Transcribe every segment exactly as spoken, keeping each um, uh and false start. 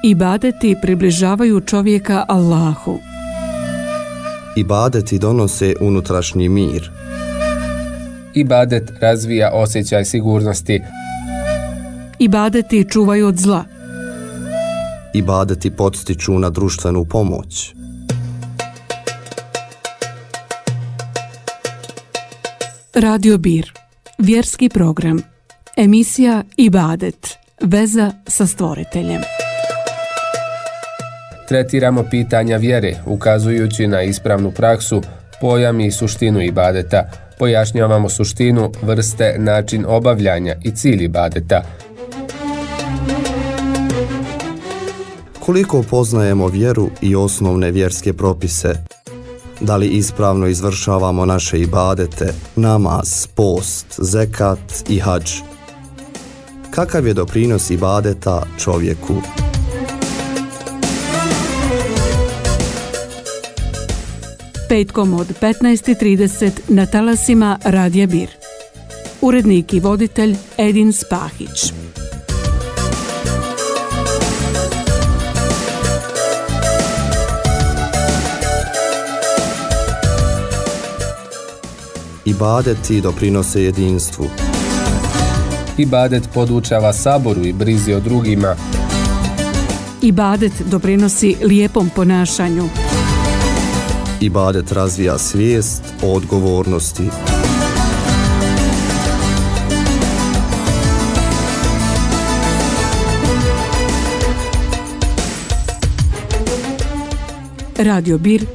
Ibadeti približavaju čovjeka Allahu. Ibadeti donose unutrašnji mir. Ibadet razvija osjećaj sigurnosti. Ibadeti čuvaju od zla. Ibadeti podstiču na društvenu pomoć. Radio Bir, vjerski program, emisija Ibadet, veza sa stvoriteljem. Tretiramo pitanja vjere, ukazujući na ispravnu praksu, pojam i suštinu ibadeta. Pojašnjavamo suštinu, vrste, način obavljanja i cilj ibadeta. Koliko poznajemo vjeru i osnovne vjerske propise? Da li ispravno izvršavamo naše ibadete, namaz, post, zekat i hadž? Kakav je doprinos ibadeta čovjeku? Petkom od petnaest i trideset na talasima Radija Bir. Urednik i voditelj Edin Spahić. Ibadeti doprinose jedinstvu. Ibadet podučava saboru i brizi o drugima. Ibadet doprinosi lijepom ponašanju. Ibadet razvija svijest o odgovornosti. Radio Bir,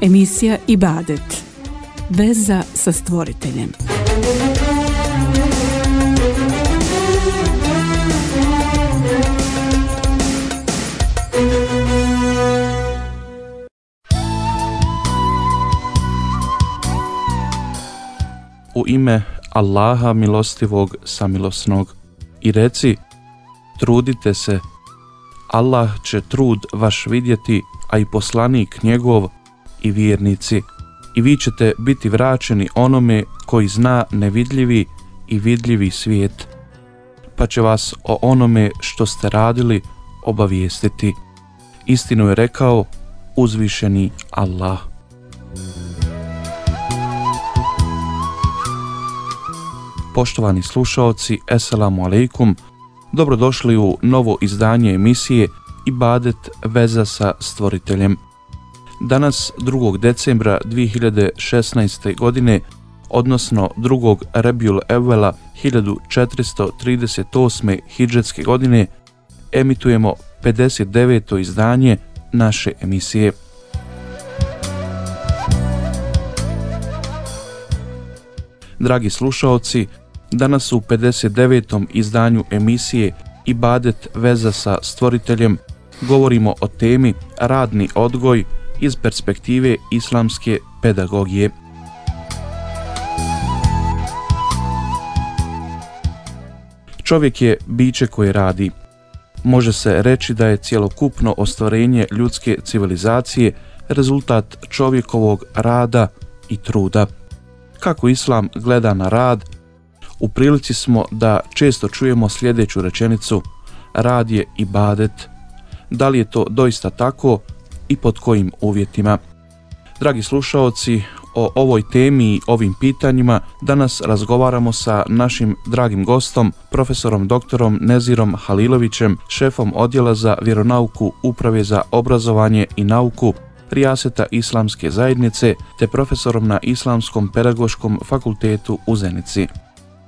emisija Ibadet, veza sa stvoriteljem. U ime Allaha milostivog samilosnog. I reci, trudite se, Allah će trud vaš vidjeti, a i poslanik njegov i vjernici. I vi ćete biti vraćeni onome koji zna nevidljivi i vidljivi svijet, pa će vas o onome što ste radili obavijestiti. Istinu je rekao uzvišeni Allah. Poštovani slušaoci, eselamu alejkum, dobrodošli u novo izdanje emisije Ibadet, veza sa stvoriteljem. Danas, drugog decembra dvije hiljade šesnaeste. godine, odnosno drugog Rebjul Evvela hiljadu četiristo trideset osme. hidžetske godine, emitujemo pedeset deveto izdanje naše emisije. Dragi slušaoci, danas u pedeset devetom izdanju emisije Ibadet, veza sa stvoriteljem govorimo o temi radni odgoj iz perspektive islamske pedagogije. Čovjek je biće koje radi. Može se reći da je cjelokupno ostvarenje ljudske civilizacije rezultat čovjekovog rada i truda. Kako islam gleda na rad, u prilici smo da često čujemo sljedeću rečenicu: rad je ibadet. Da li je to doista tako i pod kojim uvjetima? Dragi slušaoci, o ovoj temi i ovim pitanjima danas razgovaramo sa našim dragim gostom, profesorom doktorom Nezirom Halilovićem, šefom odjela za vjeronauku Uprave za obrazovanje i nauku Rijaseta Islamske zajednice, te profesorom na Islamskom pedagoškom fakultetu u Zenici.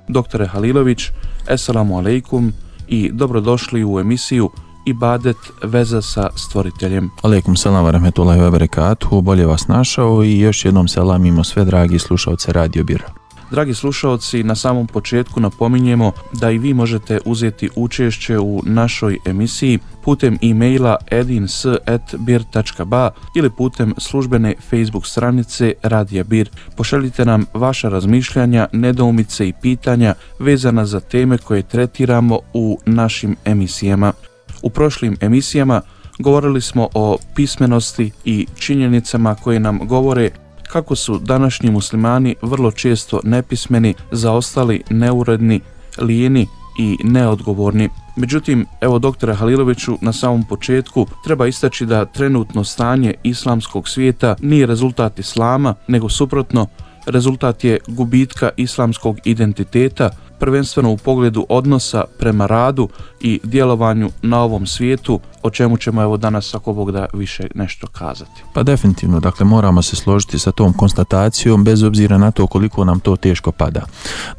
Doktore Halilović, eselamu alejkum i dobrodošli u emisiju Ibadet, veza sa stvoriteljem. Alejkum selam wa rahmetullahi wa barakatuhu, bolje vas našao i još jednom selamimo sve dragi slušaoce Radio Bir. Dragi slušaoci, na samom početku napominjemo da i vi možete uzeti učešće u našoj emisiji putem e-maila edins at bir tačka ba ili putem službene Facebook stranice Radija Bir. Pošaljite nam vaša razmišljanja, nedoumice i pitanja vezana za teme koje tretiramo u našim emisijama. U prošlim emisijama govorili smo o pismenosti i činjenicama koje nam govore kako su današnji muslimani vrlo često nepismeni, zaostali, neuredni, lijeni i neodgovorni. Međutim, evo doktore Haliloviću, na samom početku treba istaći da trenutno stanje islamskog svijeta nije rezultat islama, nego suprotno, rezultat je gubitka islamskog identiteta, prvenstveno u pogledu odnosa prema radu i djelovanju na ovom svijetu, o čemu ćemo evo danas ako Bog da više nešto kazati. Pa definitivno, dakle moramo se složiti sa tom konstatacijom bez obzira na to koliko nam to teško pada.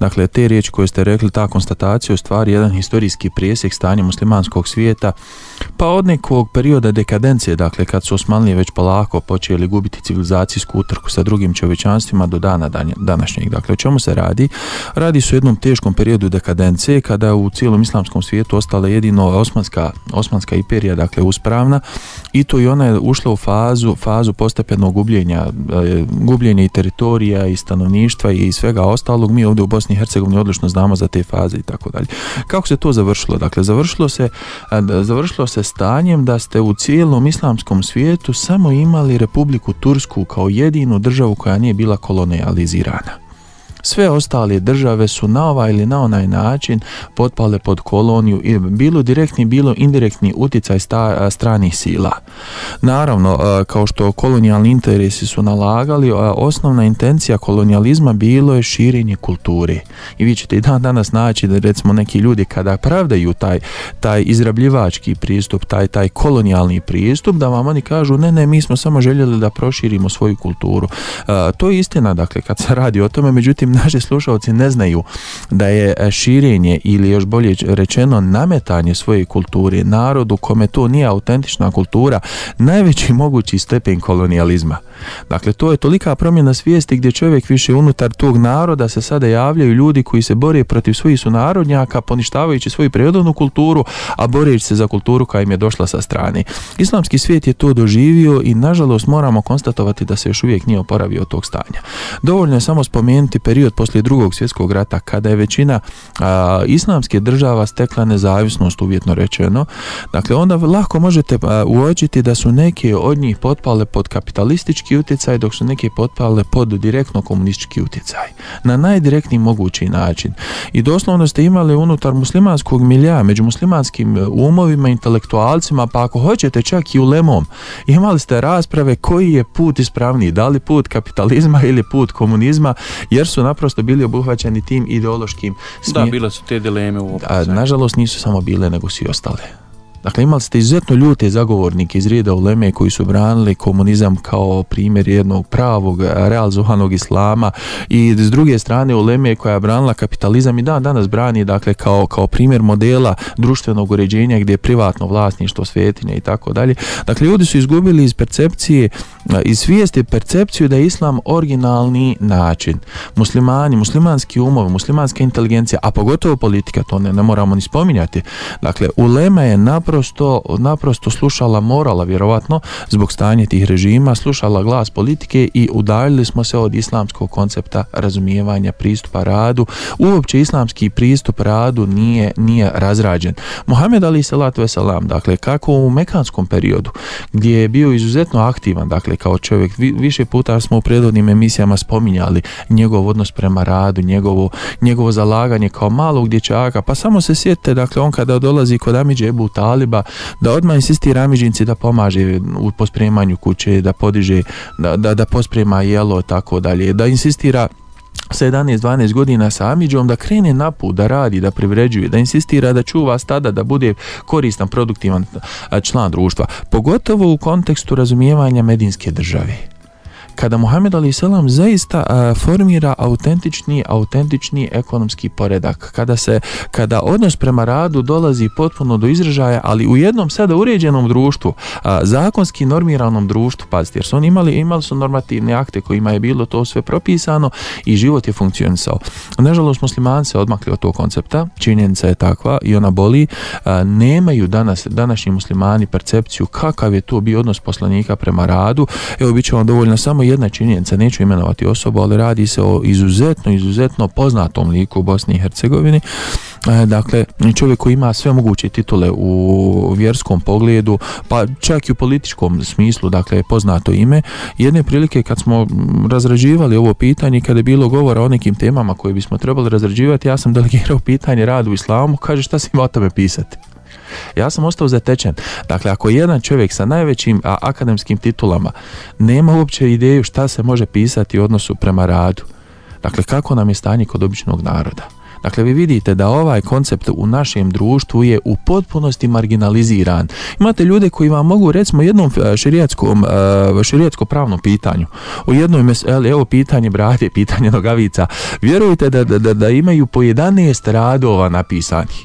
Dakle, te riječi koje ste rekli, ta konstatacija je u stvari jedan historijski presjek stanja muslimanskog svijeta, pa od nekog perioda dekadencije, dakle kad su Osmanlije već polako počeli gubiti civilizacijsku utrku sa drugim čovječanstvima do dana današnjeg. Dakle, o čemu se radi? Radi se o jednom teškom periodu dekadencije kada u cijelom islamskom svijetu ostala jedino Osmanska, Osmanska imperija, dakle uspravna, i to i ona je ušla u fazu, fazu postepenog gubljenja, e, gubljenja i teritorija i stanovništva i svega ostalog. Mi ovdje u Bosni i Hercegovini odlično znamo za te faze i tako dalje. Kako se to završilo? Dakle, završilo se, završilo se stanjem da ste u cijelom islamskom svijetu samo imali Republiku Tursku kao jedinu državu koja nije bila kolonijalizirana. Sve ostale države su na ovaj ili na onaj način potpale pod koloniju, bilo direktni, bilo indirektni utjecaj sta, stranih sila. Naravno, kao što kolonijalni interesi su nalagali, osnovna intencija kolonijalizma bilo je širenje kulture. I vi ćete i dan danas naći da recimo neki ljudi kada pravdaju taj, taj izrabljivački pristup, taj, taj kolonijalni pristup, da vam oni kažu ne, ne, mi smo samo željeli da proširimo svoju kulturu. To je istina, dakle, kad se radi o tome, međutim, naši slušalci ne znaju da je širenje ili još bolje rečeno nametanje svoje kulture narodu kome to nije autentična kultura najveći mogući stepen kolonijalizma. Dakle, to je tolika promjena svijesti gdje čovjek više unutar tog naroda se sada javljaju ljudi koji se bore protiv svojih sunarodnjaka, poništavajući svoju prirodnu kulturu, a boreći se za kulturu koja im je došla sa strane. Islamski svijet je to doživio i nažalost moramo konstatovati da se još uvijek nije oporavio od tog stanja. Dovoljno je samo spomenuti period poslije drugog svjetskog rata kada je većina a, islamske država stekla nezavisnost, uvjetno rečeno. Dakle, onda lako možete a, uočiti da su neke od njih potpale pod kapitalistički utjecaj, dok su neke potpale pod direktno komunistički utjecaj. Na najdirektniji mogući način. I doslovno ste imali unutar muslimanskog milja, među muslimanskim umovima, intelektualcima, pa ako hoćete čak i ulemom, imali ste rasprave koji je put ispravniji, da li put kapitalizma ili put komunizma, jer su naprosto bili obuhvaćeni tim ideološkim smjerom. Da, bile su te dileme u opciji. Nažalost nisu samo bile, nego svi ostale. Dakle, imali ste izuzetno ljute zagovornike iz reda uleme koji su branili komunizam kao primjer jednog pravog, realizovanog islama, i s druge strane uleme koja je branila kapitalizam i dan danas brani, dakle, kao, kao primjer modela društvenog uređenja gdje je privatno vlasništvo, svetinje i tako dalje. Dakle, ljudi su izgubili iz percepcije, iz svijesti percepciju da je islam originalni način. Muslimani, muslimanski umovi, muslimanska inteligencija, a pogotovo politika, to ne, ne moramo ni spominjati. Dakle, ulema je naprosto naprosto slušala morala, vjerovatno zbog stanja tih režima, slušala glas politike i udaljili smo se od islamskog koncepta razumijevanja pristupa radu. Uopće islamski pristup radu nije, nije razrađen. Muhammed alejhi selatu vesselam, dakle, kako u mekanskom periodu gdje je bio izuzetno aktivan, dakle, kao čovjek, više puta smo u prethodnim emisijama spominjali njegov odnos prema radu, njegovo, njegovo zalaganje kao malog dječaka, pa samo se sjetite, dakle, on kada dolazi kod Amidže Ebu Taliba, da odmah insistira Amidžinci da pomaže u pospremanju kuće, da podiže, da, da, da posprema jelo, tako dalje, da insistira sa jedanaest dvanaest godina sa Amidžom da krene na put, da radi, da privređuje, da insistira da čuva stada, da bude koristan, produktivan član društva, pogotovo u kontekstu razumijevanja medinske države. Kada Muhammed alejhi selam zaista a, formira autentični, autentični ekonomski poredak, kada se, kada odnos prema radu dolazi potpuno do izražaja, ali u jednom sada uređenom društvu, a, zakonski normiranom društvu, pazite, jer su oni imali, imali su normativne akte kojima je bilo to sve propisano i život je funkcionisao. Nažalost, muslimani se odmakli od tog koncepta, činjenica je takva i ona boli, a, nemaju danas, današnji muslimani percepciju kakav je to bio odnos poslanika prema radu. Evo, bit će vam dovoljno samo jedna činjenica, neću imenovati osobu, ali radi se o izuzetno, izuzetno poznatom liku u Bosni i Hercegovini. Dakle, čovjek koji ima sve moguće titule u vjerskom pogledu, pa čak i u političkom smislu, dakle, poznato ime. Jedne prilike kad smo razrađivali ovo pitanje, kada je bilo govora o nekim temama koje bismo trebali razrađivati, ja sam delegirao pitanje radu u islamu, kaže šta si ima o tome pisati. Ja sam ostao zatečen. Dakle, ako jedan čovjek sa najvećim a, akademskim titulama nema uopće ideju šta se može pisati u odnosu prema radu, dakle, kako nam je stanje kod običnog naroda. Dakle, vi vidite da ovaj koncept u našem društvu je u potpunosti marginaliziran. Imate ljude koji vam mogu, recimo, jednom šerijatskom, šerijatsko pravnom pitanju, u jednoj meseli, evo pitanje brade, pitanje nogavica, vjerujte da, da, da imaju po jedanaest radova napisanih.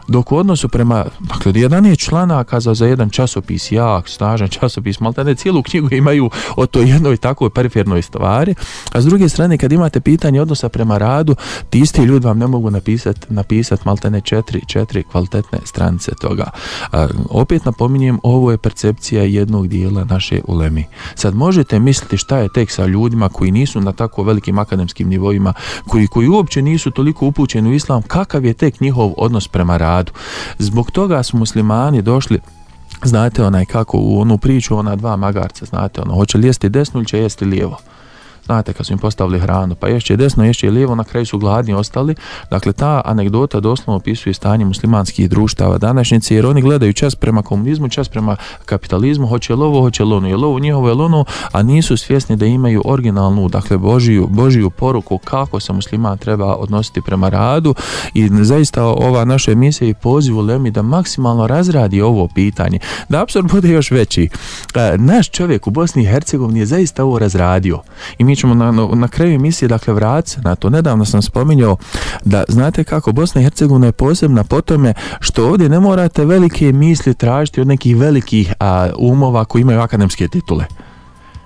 Dok u odnosu prema, dakle, jedanaest članaka za, za jedan časopis, jak, snažan časopis, maltene cijelu knjigu imaju o toj jednoj takvoj perifernoj stvari, a s druge strane, kad imate pitanje odnosa prema radu, ti isti ljudi vam ne mogu napisati napisat maltene četiri, četiri kvalitetne stranice toga. A, opet napominjem, ovo je percepcija jednog dijela naše ulemi. Sad možete misliti šta je tek sa ljudima koji nisu na tako velikim akademskim nivoima, koji, koji uopće nisu toliko upućeni u islam, kakav je tek njihov odnos prema radu. Zbog toga su muslimani došli, znate, onaj kako u onu priču, ona dva magarca, znate, ono, hoće li jesti desno ili će jesti lijevo. Znate, kad su im postavili hranu, pa ješće desno, ješće lijevo, na kraju su gladni ostali. Dakle, ta anegdota doslovno opisuje stanje muslimanskih društava današnjice, jer oni gledaju čas prema komunizmu, čas prema kapitalizmu, hoće li ovo, hoće li ono, je li ovo njihovo, je li ono, a nisu svjesni da imaju originalnu, dakle, Božiju, Božiju poruku kako se musliman treba odnositi prema radu. I zaista ova naša emisija i poziv ulemi da maksimalno razradi ovo pitanje, da apsurd bude još veći. Naš čovjek u Bosni i Hercegovini je zaista ovo razradio i mi ćemo na, na, na kraju emisije, dakle, vratiti se na to. Nedavno sam spominjao da, znate kako, Bosna i Hercegovina je posebna po tome što ovdje ne morate velike misli tražiti od nekih velikih a, umova koji imaju akademske titule.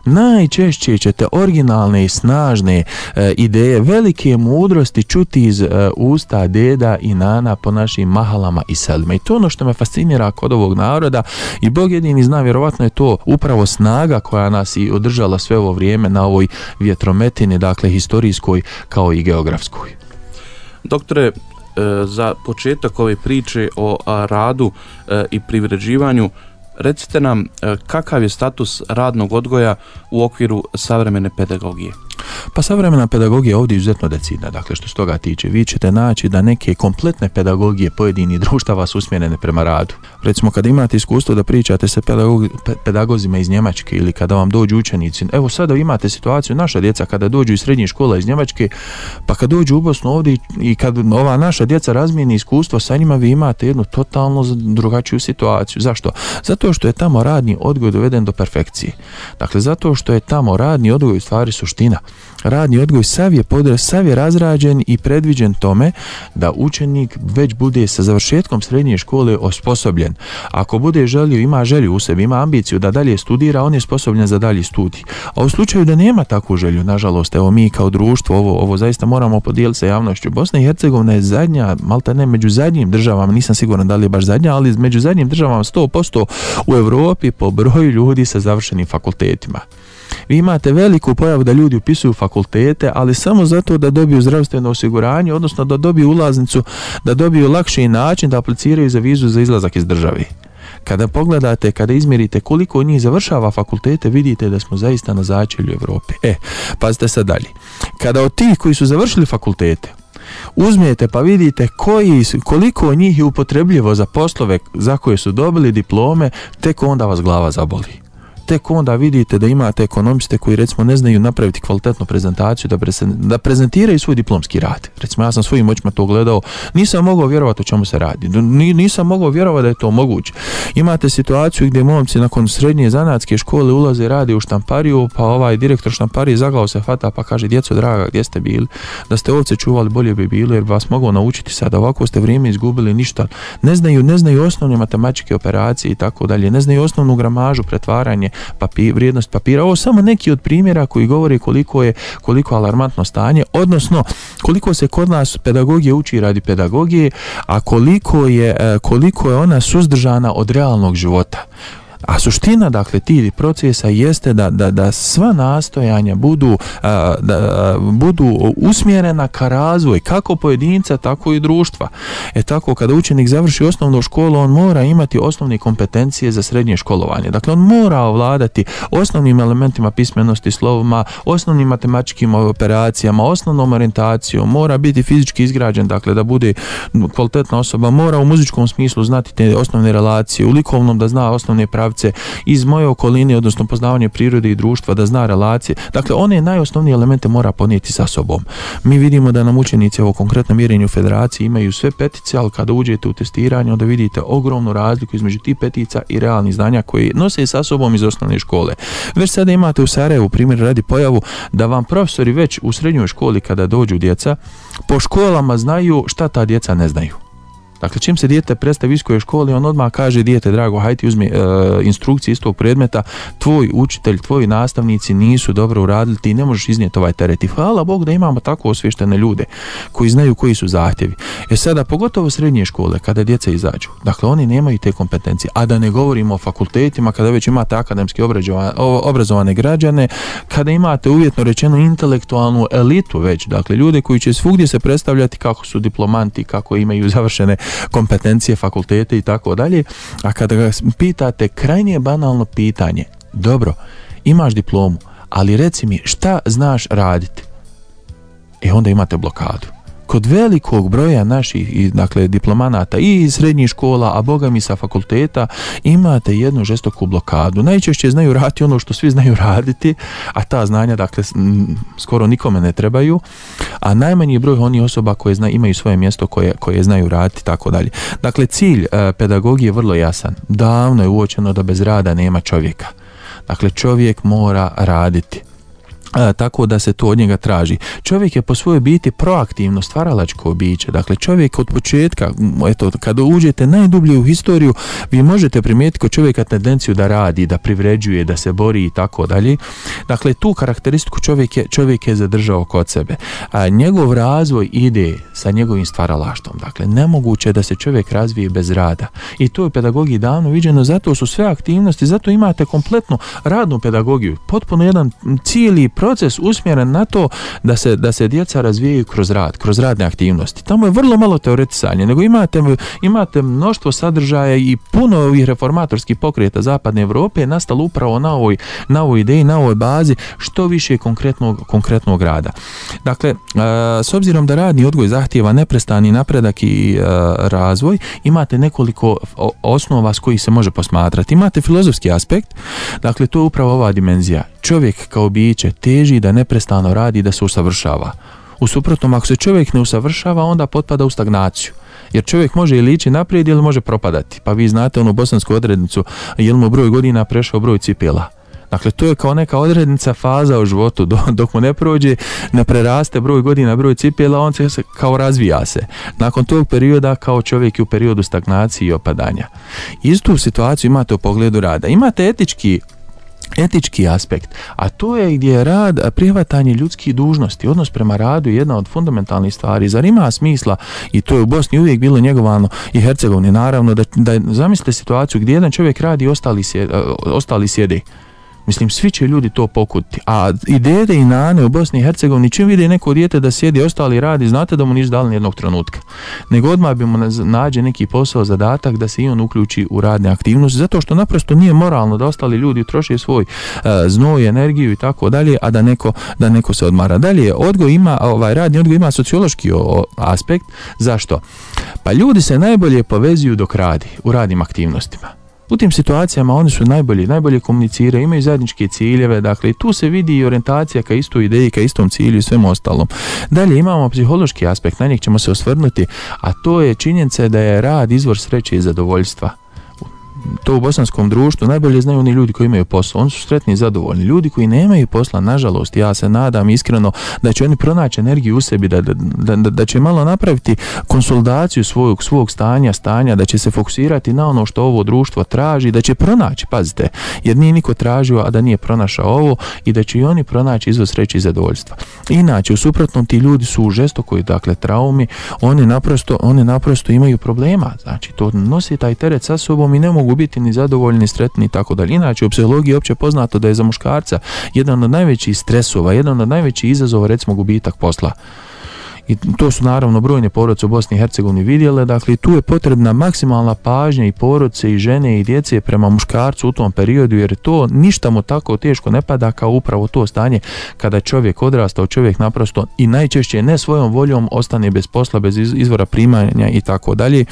Najčešće ćete originalne i snažne e, ideje, velike mudrosti čuti iz e, usta deda i nana po našim mahalama i selima. I to ono što me fascinira kod ovog naroda, i Bog jedini zna, vjerovatno je to upravo snaga koja nas i održala sve ovo vrijeme na ovoj vjetrometini, dakle historijskoj kao i geografskoj. Doktore, e, za početak ove priče o a, radu e, i privređivanju, recite nam kakav je status radnog odgoja u okviru savremene pedagogije? Pa savremena pedagogija ovdje je izuzetno decidna, dakle što se toga tiče. Vi ćete naći da neke kompletne pedagogije pojedinih društava su usmjerene prema radu. Recimo kada imate iskustvo da pričate sa pedagog, pedagozima iz Njemačke ili kada vam dođu učenici, evo sada imate situaciju, naša djeca kada dođu iz srednjih škola iz Njemačke, pa kad dođu u Bosnu ovdje i kad ova naša djeca razmijeni iskustvo sa njima, vi imate jednu totalno drugačiju situaciju. Zašto? Zato što je tamo radni odgoj doveden do perfekcije. Dakle, zato što je tamo radni odgoj u stvari suština. Radni odgoj sav je, podre, sav je razrađen i predviđen tome da učenik već bude sa završetkom srednje škole osposobljen. Ako bude želio, ima želju u sebi, ima ambiciju da dalje studira, on je sposobljen za dalji studij. A u slučaju da nema takvu želju, nažalost, evo mi kao društvo, ovo, ovo zaista moramo podijeliti sa javnošću. Bosna i Hercegovina je zadnja, malta ne među zadnjim državama, nisam siguran da li je baš zadnja, ali među zadnjim državama sto posto u Europi po broju ljudi sa završenim fakultetima. Vi imate veliku pojavu da ljudi upisuju fakultete, ali samo zato da dobiju zdravstveno osiguranje, odnosno da dobiju ulaznicu, da dobiju lakši način da apliciraju za vizu za izlazak iz države. Kada pogledate, kada izmjerite koliko njih završava fakultete, vidite da smo zaista na začelju Europe. E, pazite sad dalje. Kada od tih koji su završili fakultete uzmijete pa vidite koji, koliko njih je upotrebljivo za poslove za koje su dobili diplome, tek onda vas glava zaboli. Tek onda vidite da imate ekonomiste koji recimo ne znaju napraviti kvalitetnu prezentaciju, da, presen, da prezentiraju svoj diplomski rad. Recimo ja sam svojim očima to gledao, nisam mogao vjerovati o čemu se radi, nisam mogao vjerovati da je to moguće. Imate situaciju gdje momci nakon srednje zanatske škole ulaze i rade u štampariju, pa ovaj direktor štamparije za glavu se hvata pa kaže: djeco draga, gdje ste bili? Da ste ovce čuvali bolje bi bilo, jer bi vas mogao naučiti sada, ovako ste vrijeme izgubili, ništa. Ne znaju, ne znaju osnovne matematičke operacije i tako dalje, ne znaju osnovnu gramažu, pretvaranje, papir, vrijednost papira. Ovo samo neki od primjera koji govore koliko je koliko alarmantno stanje, odnosno koliko se kod nas pedagogije uči radi pedagogije, a koliko je koliko je ona suzdržana od realnog života. A suština, dakle, tih procesa jeste da, da, da sva nastojanja budu, a, da, budu usmjerena ka razvoj, kako pojedinca, tako i društva. E tako, kada učenik završi osnovnu školu, on mora imati osnovne kompetencije za srednje školovanje. Dakle, on mora ovladati osnovnim elementima pismenosti, slovima, osnovnim matematičkim operacijama, osnovnom orijentacijom, mora biti fizički izgrađen, dakle, da bude kvalitetna osoba, mora u muzičkom smislu znati te osnovne relacije, u likovnom da zna osnovne pravce, iz moje okoline, odnosno poznavanje prirode i društva, da zna relacije. Dakle, one najosnovnije elemente mora ponijeti sa sobom. Mi vidimo da nam učenici ovo konkretno mjerenju u federaciji imaju sve petice, ali kada uđete u testiranje, onda vidite ogromnu razliku između tih petica i realnih znanja koje nose sa sobom iz osnovne škole. Već sada imate u Sarajevu, primjer radi, pojavu da vam profesori već u srednjoj školi kada dođu djeca, po školama znaju šta ta djeca ne znaju. Dakle, čim se dijete predstavi u viskoj školi, on odmah kaže: dijete drago, hajde uzmi e, instrukcije iz tog predmeta, tvoj učitelj, tvoji nastavnici nisu dobro uradili, ti ne možeš iznijeti ovaj teret. I hvala Bog da imamo tako osvještene ljude koji znaju koji su zahtjevi. E sada, pogotovo srednje škole, kada djeca izađu, dakle, oni nemaju te kompetencije, a da ne govorimo o fakultetima, kada već imate akademski obrazovane građane, kada imate uvjetno rečeno intelektualnu elitu već, dakle, ljude koji će svugdje se predstavljati kako su diplomanti, kako imaju završene kompetencije, fakultete i tako dalje. A kada ga pitate, krajnje banalno pitanje: dobro, imaš diplomu, ali reci mi šta znaš raditi? E onda imate blokadu. Kod velikog broja naših, dakle, diplomanata i iz srednjih škola, a boga mi sa fakulteta, imate jednu žestoku blokadu. Najčešće znaju raditi ono što svi znaju raditi, a ta znanja, dakle, skoro nikome ne trebaju, a najmanji broj onih osoba koje zna, imaju svoje mjesto koje, koje znaju raditi, tako dalje. Dakle, cilj e, pedagogije je vrlo jasan. Davno je uočeno da bez rada nema čovjeka. Dakle, čovjek mora raditi. A, tako da se to od njega traži. Čovjek je po svojoj biti proaktivno stvaralačko biće. Dakle, čovjek od početka, eto, kada uđete najdublje u historiju, vi možete primijetiti kod čovjeka tendenciju da radi, da privređuje, da se bori i tako dalje. Dakle, tu karakteristiku čovjek je, čovjek je zadržao kod sebe. A njegov razvoj ide sa njegovim stvaralaštvom. Dakle, nemoguće je da se čovjek razvije bez rada. I to je u pedagogiji davno viđeno, zato su sve aktivnosti, zato imate kompletnu radnu pedagogiju. Potpuno jedan cijeli proces usmjeren na to da se, da se djeca razvijaju kroz rad, kroz radne aktivnosti. Tamo je vrlo malo teoretisanja, nego imate, imate mnoštvo sadržaja i puno ovih reformatorskih pokreta Zapadne Europe je nastalo upravo na ovoj, na ovoj ideji, na ovoj bazi što više konkretnog, konkretnog rada. Dakle, s obzirom da radni odgoj zahtijeva neprestani napredak i razvoj, imate nekoliko osnova s kojih se može posmatrati. Imate filozofski aspekt, dakle, to je upravo ova dimenzija. Čovjek kao biće teži da neprestano radi, da se usavršava. U suprotnom, ako se čovjek ne usavršava, onda potpada u stagnaciju. Jer čovjek može ili ići naprijed ili može propadati. Pa vi znate onu bosansku odrednicu, jel mu broj godina prešao broj cipela. Dakle, to je kao neka odrednica, faza u životu, dok mu ne prođe, ne preraste broj godina, broj cipela, on se kao razvija se. Nakon tog perioda, kao čovjek je u periodu stagnacije i opadanja. Istu situaciju imate u pogledu rada. Imate etički etički aspekt, a to je gdje je rad, prihvatanje ljudskih dužnosti, odnos prema radu je jedna od fundamentalnih stvari. Zar ima smisla, i to je u Bosni uvijek bilo njegovano i Hercegovini, naravno, da, da zamislite situaciju gdje jedan čovjek radi i ostali, sjede, ostali sjede. Mislim, svi će ljudi to pokutiti. A i dede i nane u Bosni i Hercegovini, čim vide neko dijete da sjedi, ostali radi, znate da mu nisu dali nijednog trenutka. Nego odmah bi mu nađe neki posao, zadatak da se i on uključi u radne aktivnosti, zato što naprosto nije moralno da ostali ljudi troše svoj uh, znoj, energiju i tako dalje, a da neko, da neko se odmara. Dalje, odgoj ima, ovaj radni odgoj ima sociološki o, aspekt. Zašto? Pa ljudi se najbolje povezuju dok radi, u radnim aktivnostima. U tim situacijama oni su najbolji, najbolje komuniciraju, imaju zajedničke ciljeve, dakle tu se vidi i orijentacija ka istoj ideji, ka istom cilju i svemu ostalom. Dalje imamo psihološki aspekt, na njeg ćemo se osvrnuti, a to je činjenica da je rad izvor sreće i zadovoljstva. To u bosanskom društvu najbolje znaju oni ljudi koji imaju posao, oni su sretni i zadovoljni. Ljudi koji nemaju posla, nažalost, ja se nadam iskreno da će oni pronaći energiju u sebi, da, da, da, da će malo napraviti konsolidaciju svog, svog stanja, stanja, da će se fokusirati na ono što ovo društvo traži, da će pronaći, pazite, jer nije niko tražio, a da nije pronašao ovo, i da će i oni pronaći izvor sreće i zadovoljstva. Inače, u suprotnom, ti ljudi su u žestokoj, dakle, traumi, oni naprosto, oni naprosto imaju problema, znači to nosi taj teret sa sobom i ne mogu mogu biti ni zadovoljni, ni sretni i tako dalje. Inače, u psihologiji je opće poznato da je za muškarca jedan od najvećih stresova, jedan od najvećih izazova, recimo, gubitak posla. I to su naravno brojne porodice u Bosni i Hercegovini vidjele, dakle tu je potrebna maksimalna pažnja i porodice i žene i djece prema muškarcu u tom periodu, jer to ništa mu tako teško ne pada kao upravo to stanje kada čovjek odrastao, čovjek naprosto i najčešće ne svojom voljom ostane bez posla, bez izvora primanja i tako dalje.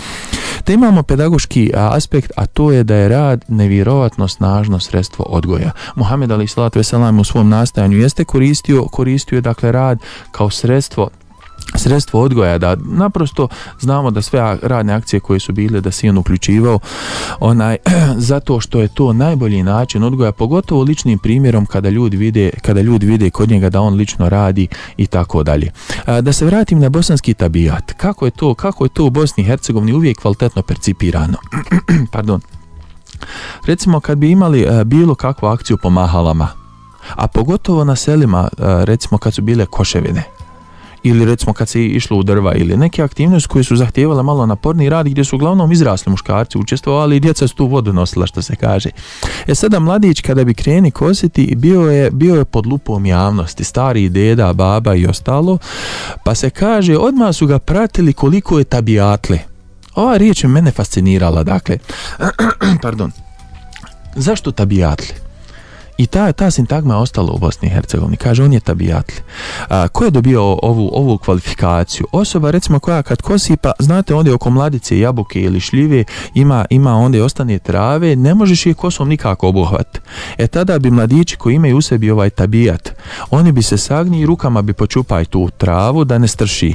Te imamo pedagoški aspekt, a to je da je rad nevjerovatno snažno sredstvo odgoja. Muhammed alejhi selatu vesselam u svom nastajanju jeste koristio, koristio je dakle rad kao sredstvo sredstvo odgoja, da naprosto znamo da sve radne akcije koje su bile da se on uključivao onaj, zato što je to najbolji način odgoja, pogotovo ličnim primjerom kada ljudi vide, kada ljudi vide kod njega da on lično radi i tako dalje. Da se vratim na bosanski tabijat, kako je to, kako je to u Bosni i Hercegovini uvijek kvalitetno percipirano. Pardon. Recimo kad bi imali bilo kakvu akciju po mahalama, a pogotovo na selima, recimo kad su bile koševine, ili recimo kad se išlo u drva, ili neke aktivnosti koje su zahtijevale malo naporni rad, gdje su uglavnom izrasli muškarci učestvovali i djeca su tu vodu nosila, što se kaže. E sada mladić kada bi kreni kositi, bio je, bio je pod lupom javnosti, stari deda, baba i ostalo, pa se kaže odmah su ga pratili koliko je tabijatle. Ova riječ je mene fascinirala, dakle, pardon, zašto tabijatle? I ta, ta sintagma je ostala u Bosni i Hercegovini. Kaže, on je tabijatli. A, ko je dobio ovu, ovu kvalifikaciju? Osoba, recimo, koja kad kosi, pa znate, ondje oko mladice, jabuke ili šljive, ima, ima ondje ostane trave, ne možeš je kosom nikako obuhvat. E tada bi mladići koji imaju u sebi ovaj tabijat, oni bi se sagni i rukama bi počupaj tu travu da ne strši.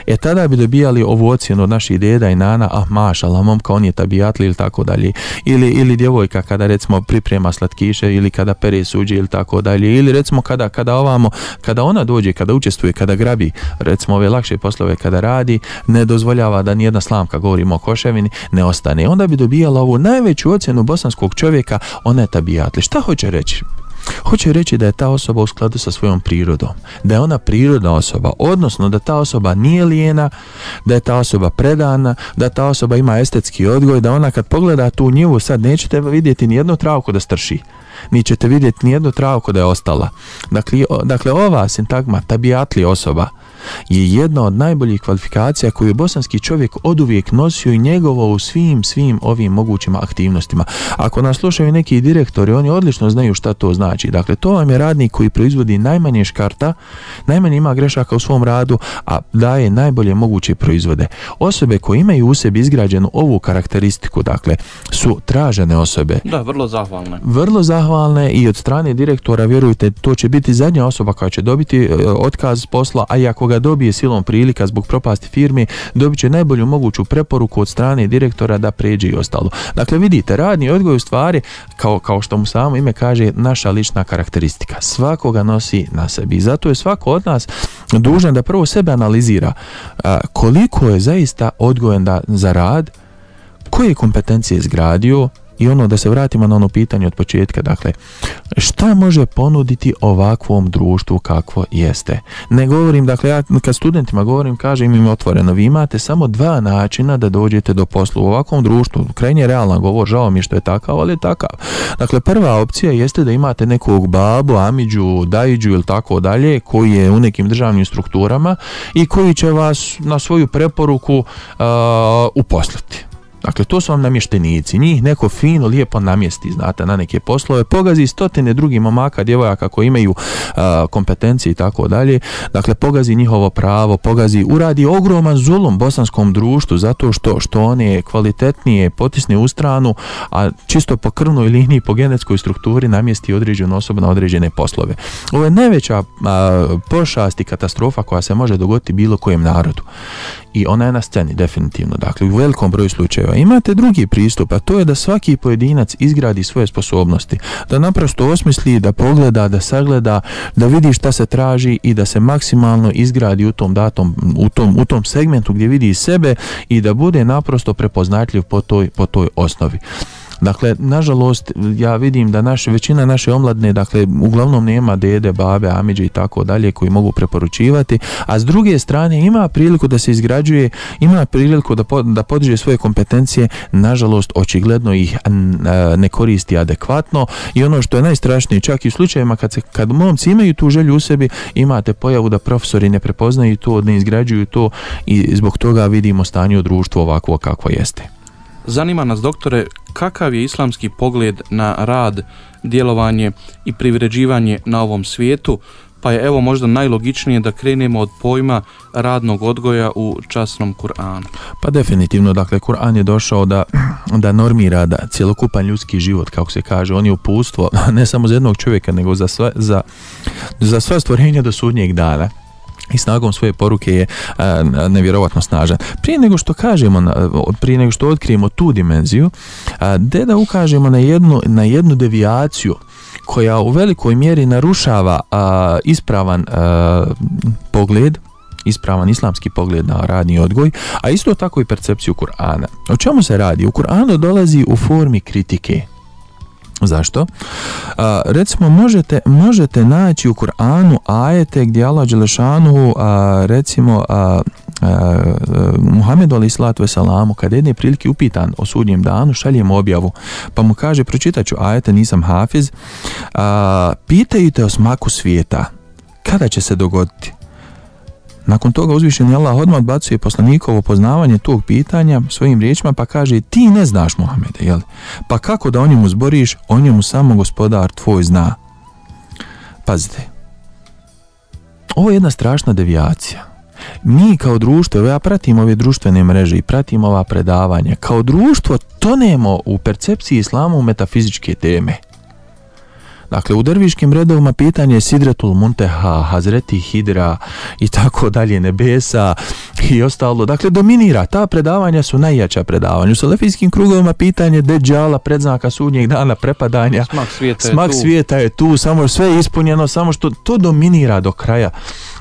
E tada bi dobijali ovu ocjenu od naših deda i nana, ah mašala, momka on je tabijatli ili tako dalje, ili, ili djevojka kada recimo priprema slatkiše ili kada pere suđe ili tako dalje, ili recimo kada, kada ovamo, kada ona dođe, kada učestvuje, kada grabi recimo ove lakše poslove kada radi, ne dozvoljava da nijedna slamka, govorimo o koševini, ne ostane. Onda bi dobijala ovu najveću ocjenu bosanskog čovjeka, ona je tabijatli. Šta hoće reći? Hoće reći da je ta osoba u skladu sa svojom prirodom, da je ona prirodna osoba, odnosno da ta osoba nije lijena, da je ta osoba predana, da ta osoba ima estetski odgoj, da ona kad pogleda tu njivu sad nećete vidjeti nijednu travku da strši, ni ćete vidjeti nijednu travku da je ostala. Dakle, dakle ova sintagma tabijatli osoba je jedna od najboljih kvalifikacija koju je bosanski čovjek oduvijek nosio i njegovo u svim, svim ovim mogućim aktivnostima. Ako nas slušaju neki direktori, oni odlično znaju šta to znači. Dakle, to vam je radnik koji proizvodi najmanje škarta, najmanje ima grešaka u svom radu, a daje najbolje moguće proizvode. Osobe koje imaju u sebi izgrađenu ovu karakteristiku, dakle, su tražene osobe. Da, vrlo zahvalne. Vrlo zahvalne i od strane direktora, vjerujte, to će biti zadnja osoba koja će dobiti otkaz s posla, a i ako ga dobije silom prilika zbog propasti firme, dobit će najbolju moguću preporuku od strane direktora da pređe i ostalo. Dakle, vidite, radni odgoj u stvari, kao, kao što mu samo ime kaže, naša lična karakteristika. Svakoga nosi na sebi. Zato je svako od nas dužan da prvo sebe analizira a, koliko je zaista odgojen da, za rad, koje kompetencije izgradio. I ono, da se vratimo na ono pitanje od početka, dakle, šta može ponuditi ovakvom društvu kakvo jeste? Ne govorim, dakle, ja kad studentima govorim, kažem im otvoreno, vi imate samo dva načina da dođete do posla u ovakvom društvu. Krajnje realan govor, žao mi što je takav, ali je takav. Dakle, prva opcija jeste da imate nekog babu, amiđu, dajiđu ili tako dalje, koji je u nekim državnim strukturama i koji će vas na svoju preporuku uh, uposliti. Dakle, to su vam namještenici, njih neko fino, lijepo namjesti, znate, na neke poslove, pogazi stotine drugih momaka, djevojaka koji imaju uh, kompetencije i tako dalje, dakle, pogazi njihovo pravo, pogazi, uradi ogroman zulum bosanskom društvu zato što, što one kvalitetnije potisne u stranu, a čisto po krvnoj liniji, po genetskoj strukturi namjesti određenu osobu na određene poslove. Ovo je najveća uh, pošast i katastrofa koja se može dogoditi bilo kojem narodu. I ona je na sceni, definitivno. Dakle, u velikom broju slučajeva. Imate drugi pristup, a to je da svaki pojedinac izgradi svoje sposobnosti. Da naprosto osmisli, da pogleda, da sagleda, da vidi šta se traži i da se maksimalno izgradi u tom datom, u tom, u tom segmentu gdje vidi sebe i da bude naprosto prepoznatljiv po toj, po toj osnovi. Dakle, nažalost, ja vidim da naše, većina naše omladne, dakle, uglavnom nema dede, babe, amiđe i tako dalje koji mogu preporučivati, a s druge strane ima priliku da se izgrađuje, ima priliku da, po, da podiže svoje kompetencije, nažalost, očigledno ih ne koristi adekvatno i ono što je najstrašnije, čak i u slučajevima kad, se, kad momci imaju tu želju u sebi, imate pojavu da profesori ne prepoznaju to, ne izgrađuju to i zbog toga vidimo stanje u društvu ovakvo kakvo jeste. Zanima nas, doktore, kakav je islamski pogled na rad, djelovanje i privređivanje na ovom svijetu, pa je evo možda najlogičnije da krenemo od pojma radnog odgoja u časnom Kur'anu. Pa definitivno, dakle, Kur'an je došao da, da normira da cjelokupan ljudski život, kako se kaže, on je uputstvo ne samo za jednog čovjeka, nego za sve, za, za sve stvorenja do sudnjeg dana. I snagom svoje poruke je a, nevjerovatno snažan. Prije nego što kažemo, prije nego što otkrijemo tu dimenziju, a, de da ukažemo na jednu, na jednu devijaciju koja u velikoj mjeri narušava a, ispravan a, pogled, ispravan islamski pogled na radni odgoj, a isto tako i percepciju Kur'ana. O čemu se radi? U Kur'anu dolazi u formi kritike. Zašto? A, recimo možete, možete naći u Kur'anu ajete gdje Allah dželešanu recimo a, a, Muhammedu alejhi salatu veselamu kad jedne prilike upitan o sudnjem danu šaljem objavu pa mu kaže pročitat ću ajete, nisam hafiz, a, pitaju te o smaku svijeta, kada će se dogoditi? Nakon toga uzvišeni Allah odmah odbacuje poslanikovo poznavanje tog pitanja svojim riječima pa kaže ti ne znaš Muhamede, jel? Pa kako da o njemu zboriš, o njemu samo gospodar tvoj zna. Pazite, ovo je jedna strašna devijacija. Mi kao društvo, ja pratim ove društvene mreže i pratim ova predavanja, kao društvo tonemo u percepciji islama u metafizičke teme. Dakle, u derviškim redovima pitanje je Sidratul Munteha, Hazreti Hidra i tako dalje, nebesa i ostalo. Dakle, dominira. Ta predavanja su najjača predavanja. U salafijskim krugovima pitanje Deđala, predznaka sudnjeg dana, prepadanja. Smak svijeta, Smak je, tu. svijeta je tu. Samo sve je ispunjeno, samo što to dominira do kraja.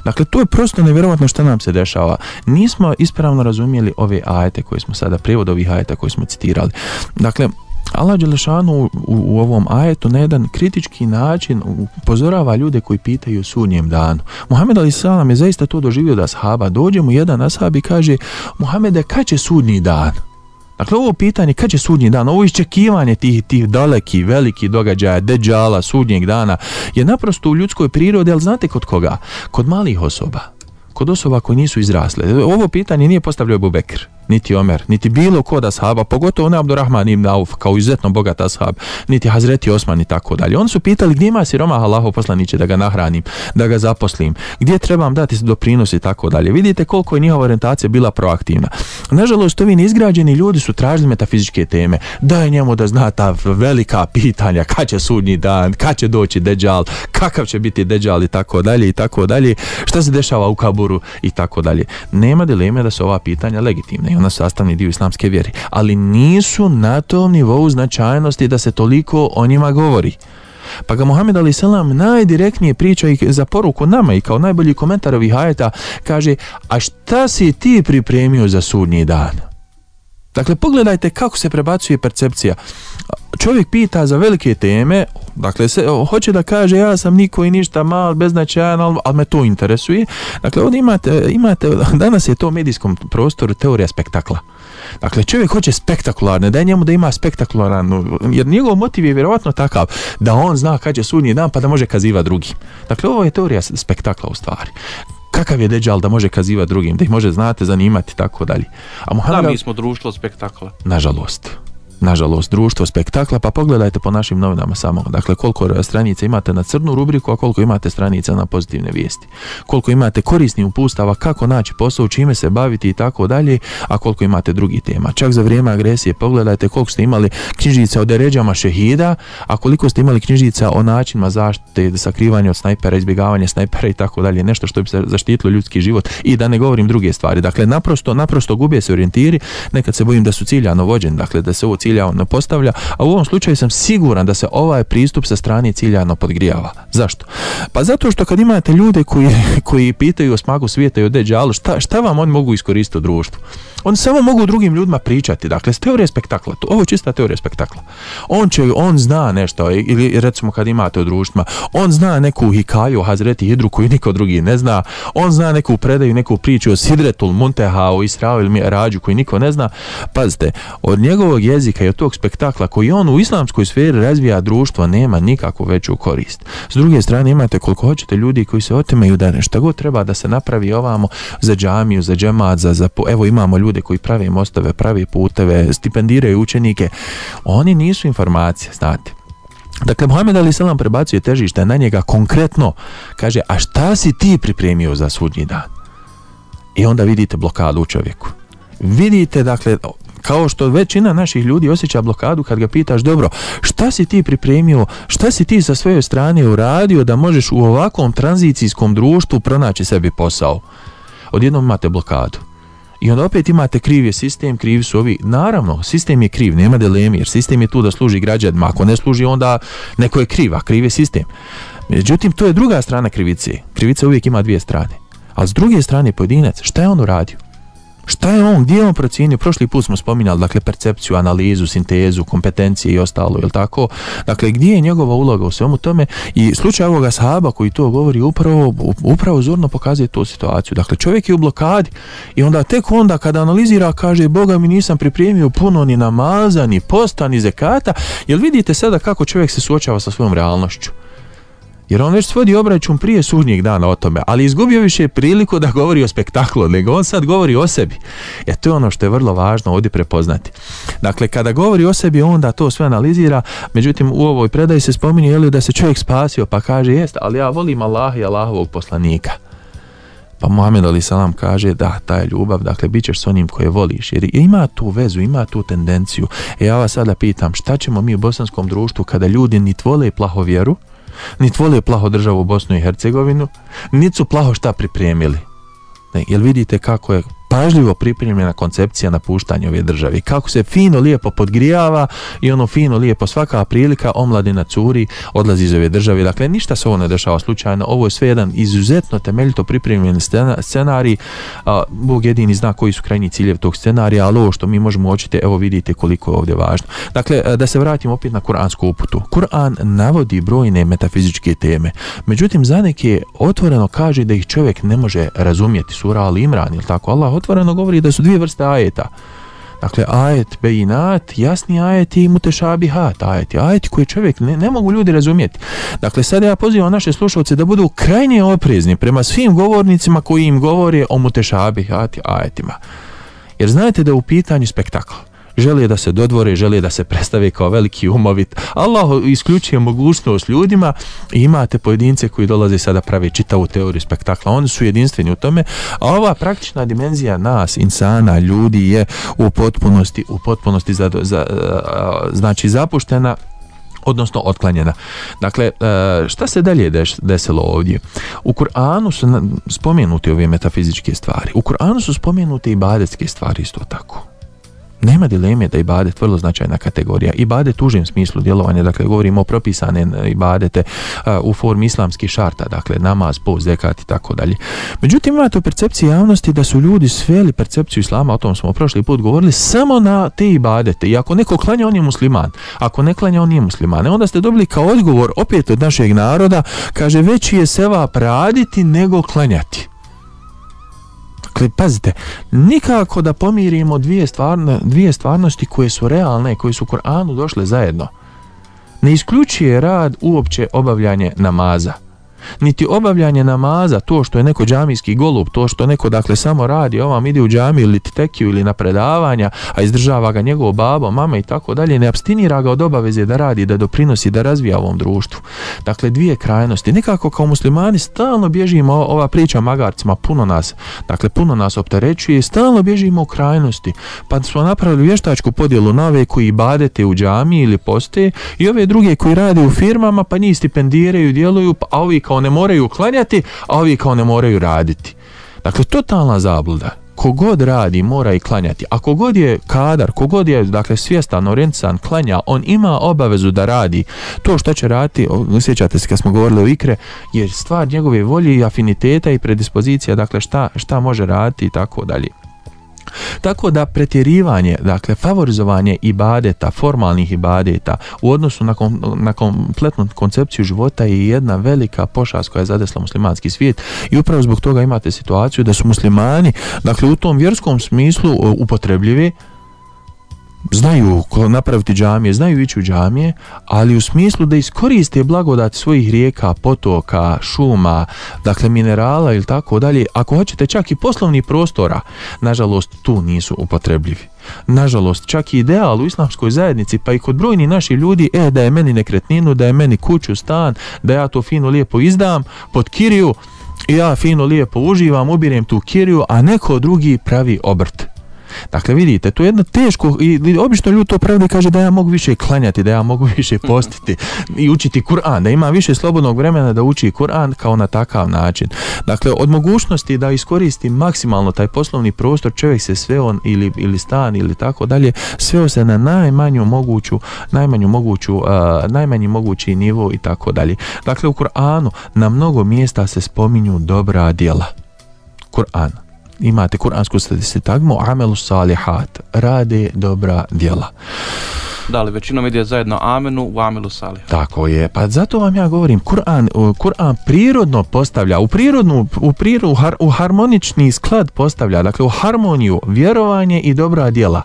Dakle, to je prosto nevjerovatno što nam se dešava. Nismo ispravno razumjeli ove ajete koje smo sada, prijevod ovih ajeta koje smo citirali. Dakle, Allah dželešanu u, u ovom ajetu na jedan kritički način upozorava ljude koji pitaju o sudnjem danu. Muhammed alejhi selam je zaista to doživio da ashaba. Dođe mu jedan ashab i kaže Muhammede, kad će sudnji dan? Dakle, ovo pitanje kad će sudnji dan, ovo iščekivanje tih, tih daleki, veliki događaja, deđala, sudnjeg dana je naprosto u ljudskoj prirodi, ali znate kod koga? Kod malih osoba. Kod osoba koji nisu izrasle. Ovo pitanje nije postavljao Ebu Bekr, niti Omer, niti bilo kod ashaba, pogotovo ne Abdurrahman ibn Auf, kao izuzetno bogat ashab, niti Hazreti Osman i tako dalje. Oni su pitali gdje ima siromah Allahov poslaniće da ga nahranim, da ga zaposlim, gdje trebam dati doprinos i tako dalje. Vidite koliko je njihova orijentacija bila proaktivna. Nažalost, ovi neizgrađeni ljudi su tražili metafizičke teme. Daj njemu da zna ta velika pitanja, kad će sudnji dan, kad će doći deđal, kakav će biti deđal i tako dalje i tako dalje, šta se dešava u kaburu i tako dalje. Nema dileme da su ova pitanja legitimna i ona su sastavni dio islamske vjere, ali nisu na tom nivou značajnosti da se toliko o njima govori. Pa ga Muhammed alejhi selam najdirektnije priča i za poruku nama i kao najbolji komentar ovih ajeta kaže, a šta si ti pripremio za sudnji dan? Dakle, pogledajte kako se prebacuje percepcija. Čovjek pita za velike teme, dakle, se, hoće da kaže ja sam niko i ništa mal, beznačajan, ali, ali me to interesuje. Dakle, ovdje imate, imate, danas je to u medijskom prostoru teorija spektakla. Dakle, čovjek hoće spektakularne, daj njemu da ima spektakularno, jer njegov motiv je vjerovatno takav da on zna kad će sudnji dan pa da može kazivati drugim. Dakle, ovo je teorija spektakla u stvari. Kakav je deđal da može kazivati drugim, da ih može, znate, zanimati, tako dalje. A Muhammed, da, mi smo društvo spektakla. Nažalost. Nažalost, društvo spektakla, pa pogledajte po našim novinama samo. Dakle, koliko stranica imate na crnu rubriku, a koliko imate stranica na pozitivne vijesti. Koliko imate korisnih upustava, kako naći posao, čime se baviti i tako dalje, a koliko imate drugih tema. Čak za vrijeme agresije pogledajte koliko ste imali knjižica o deređama šehida, a koliko ste imali knjižica o načinima zaštite, sakrivanja od snajpera, izbjegavanja snajpera i tako dalje, nešto što bi se zaštitilo ljudski život i da ne govorim druge stvari. Dakle, naprosto, naprosto gube se orijentiri, nekad se bojim da su ciljano vođeni, dakle, da se ovo ciljano postavlja, a u ovom slučaju sam siguran da se ovaj pristup sa strane ciljano podgrijava. Zašto? Pa zato što kad imate ljude koji, koji pitaju o smaku svijeta i o deđalu, šta, šta vam oni mogu iskoristiti u društvu? Oni samo mogu drugim ljudima pričati, dakle, s teorije spektakla, ovo je čista teorija spektakla. On će, on zna nešto, ili recimo kad imate u društvima, on zna neku hikaju o Hazreti Hidru koju niko drugi ne zna, on zna neku predaju, neku priču o Sidretul Munteha, o Israu ili Mi'rađu koju niko ne zna. Pazite, od njegovog jezika i od tog spektakla koji on u islamskoj sferi razvija društvo nema nikakvu veću korist. S druge strane imate koliko hoćete ljudi koji se otimaju da nešto god treba da se napravi ovamo za džamiju, za džemat, za, za evo imamo ljudi koji prave mostove, prave puteve, stipendiraju učenike, oni nisu informacije, znate. Dakle, Muhammed alejhi selam prebacuje težište na njega konkretno, kaže, a šta si ti pripremio za sudnji dan? I onda vidite blokadu u čovjeku. Vidite, dakle, kao što većina naših ljudi osjeća blokadu kad ga pitaš, dobro, šta si ti pripremio, šta si ti sa svoje strane uradio da možeš u ovakvom tranzicijskom društvu pronaći sebi posao? Odjednom imate blokadu. I onda opet imate kriv je sistem, krivi su ovi. Naravno, sistem je kriv, nema dileme, jer sistem je tu da služi građanima. Ako ne služi, onda neko je kriv, a kriv je sistem. Međutim, to je druga strana krivice. Krivica uvijek ima dvije strane. A s druge strane, pojedinac, šta je on uradio? Šta je on, gdje je on procijenio? Prošli put smo spominjali, dakle, percepciju, analizu, sintezu, kompetencije i ostalo, je li tako? Dakle, gdje je njegova uloga u svemu tome? I slučaj ovoga sahaba koji to govori upravo, upravo zorno pokazuje tu situaciju. Dakle, čovjek je u blokadi i onda tek onda kada analizira kaže, Boga mi nisam pripremio puno ni namaza, ni posta, ni zekata. Jel vidite sada kako čovjek se suočava sa svojom realnošću? Jer on već svodi obračun prije sudnjeg dana o tome, ali izgubio više priliku da govori o spektaklu, nego on sad govori o sebi. E to je ono što je vrlo važno ovdje prepoznati. Dakle, kada govori o sebi, onda to sve analizira, međutim u ovoj predaji se spominje je li da se čovjek spasio, pa kaže, jest, ali ja volim Allaha i Allahovog poslanika. Pa Muhammed alejhi selam kaže, da, ta je ljubav, dakle, bit ćeš s onim koje voliš, jer ima tu vezu, ima tu tendenciju. E ja vas sada pitam, šta ćemo mi u bosanskom društvu kada ljudi nit vole plahovjeru, niti vole plaho državu Bosnu i Hercegovinu, niti su plaho šta pripremili. Ne, jel vidite kako je pažljivo pripremljena koncepcija napuštanja ove države, kako se fino lijepo podgrijava i ono fino lijepo svaka prilika omladina curi, odlazi iz ove države. Dakle, ništa se ovo ne dešava slučajno, ovo je sve jedan izuzetno temeljito pripremljen scenarij. A, Bog jedini zna koji su krajnji ciljevi tog scenarija, ali ovo što mi možemo očiti, evo vidite koliko je ovdje važno. Dakle, da se vratimo opet na kuransku uputu. Kur'an navodi brojne metafizičke teme, međutim za neke otvoreno kaže da ih čovjek ne može razumjeti. Sura Al Imran, ili tako, Allah otvoreno govori da su dvije vrste ajeta. Dakle, ajet bejinat, jasni ajeti i mutešabihat ajeti. Ajeti koje čovjek ne, ne mogu ljudi razumjeti. Dakle, sada ja pozivam naše slušalce da budu krajnje oprezni prema svim govornicima koji im govore o mutešabihat ajetima. Jer znate da je u pitanju spektakl. Žele da se dodvore, žele da se predstave kao veliki umovit. Allah isključuje mogućnost ljudima i imate pojedince koji dolaze sada prave čitavu teoriju spektakla. Oni su jedinstveni u tome, a ova praktična dimenzija nas, insana, ljudi je u potpunosti, u potpunosti za, za, znači zapuštena, odnosno otklanjena. Dakle, šta se dalje desilo ovdje? U Kur'anu su spomenute ove metafizičke stvari. U Kur'anu su spomenute i ibadetske stvari isto tako. Nema dileme da ibadet vrlo značajna kategorija. Ibadet u užem smislu djelovanja, dakle govorimo o propisane ibadete uh, u formi islamskih šarta, dakle namaz, post, zekat i tako dalje. Međutim, imate u percepciji javnosti da su ljudi sveli percepciju islama, o tom smo prošli put govorili, samo na te ibadete. I ako neko klanja, on je musliman. Ako ne klanja, on nije musliman. E onda ste dobili kao odgovor opet od našeg naroda, kaže veći je sevap raditi nego klanjati. Dakle, pazite, nikako da pomirimo dvije, stvarno, dvije stvarnosti koje su realne, koje su u Kur'anu došle zajedno. Ne isključuje rad uopće obavljanje namaza. Niti obavljanje namaza, to što je neko džamijski golub, to što neko dakle samo radi, ovam ide u džamiju ili tekiju ili na predavanja, a izdržava ga njegovo babo, mama i tako dalje, ne apstinira ga od obaveze da radi, da doprinosi, da razvija ovom društvu. Dakle, dvije krajnosti. Nekako kao muslimani stalno bježimo, ova priča o magarcima puno nas, dakle puno nas opterećuje, stalno bježimo u krajnosti. Pa smo napravili vještačku podjelu na ove koji ibadete u džamiji ili poste i ove druge koji rade u firmama, pa njih stipendiraju, djeluju, a ovi kao ne moraju klanjati, a ovi kao ne moraju raditi. Dakle, totalna zabluda. kogod radi mora i klanjati. A kogod je kadar, kogod je dakle svjestan, orijentisan, klanja, on ima obavezu da radi. To što će raditi, sjećate se kad smo govorili o ikre, je stvar njegove volje i afiniteta i predispozicija, dakle šta, šta može raditi i tako dalje. Tako da pretjerivanje, dakle favorizovanje ibadeta, formalnih ibadeta u odnosu na, kom, na kompletnu koncepciju života je jedna velika pošast koja je zadesla muslimanski svijet i upravo zbog toga imate situaciju da su muslimani, dakle u tom vjerskom smislu upotrebljivi, znaju napraviti džamije, znaju ići u džamije, ali u smislu da iskoriste blagodati svojih rijeka, potoka, šuma, dakle minerala ili tako dalje, ako hoćete čak i poslovnih prostora, nažalost tu nisu upotrebljivi. Nažalost, čak i ideal u islamskoj zajednici, pa i kod brojnih naših ljudi, e, da je meni nekretninu, da je meni kuću, stan, da ja to fino lijepo izdam pod kiriju i ja fino lijepo uživam, ubirem tu kiriju, a neko drugi pravi obrt. Dakle, vidite, to je jedno teško i obično ljudi to pravda kaže da ja mogu više klanjati, da ja mogu više postiti i učiti Kur'an, da ima više slobodnog vremena da uči Kur'an kao na takav način. Dakle, od mogućnosti da iskoristi maksimalno taj poslovni prostor, čovjek se sveo ili, ili stan ili tako dalje, sveo se na najmanju moguću, najmanju moguću, uh, najmanji mogući nivo i tako dalje. Dakle, u Kur'anu na mnogo mjesta se spominju dobra djela. Kur'an. Imate kuransku sintagmu amelu salihat, rade dobra djela. Da, ali većinom ide zajedno amenu u amelu salihat. Tako je, pa zato vam ja govorim, Kur'an, Kur'an prirodno postavlja, u prirodnu, u prirodu, u harmonični sklad postavlja, dakle u harmoniju, vjerovanje i dobra djela.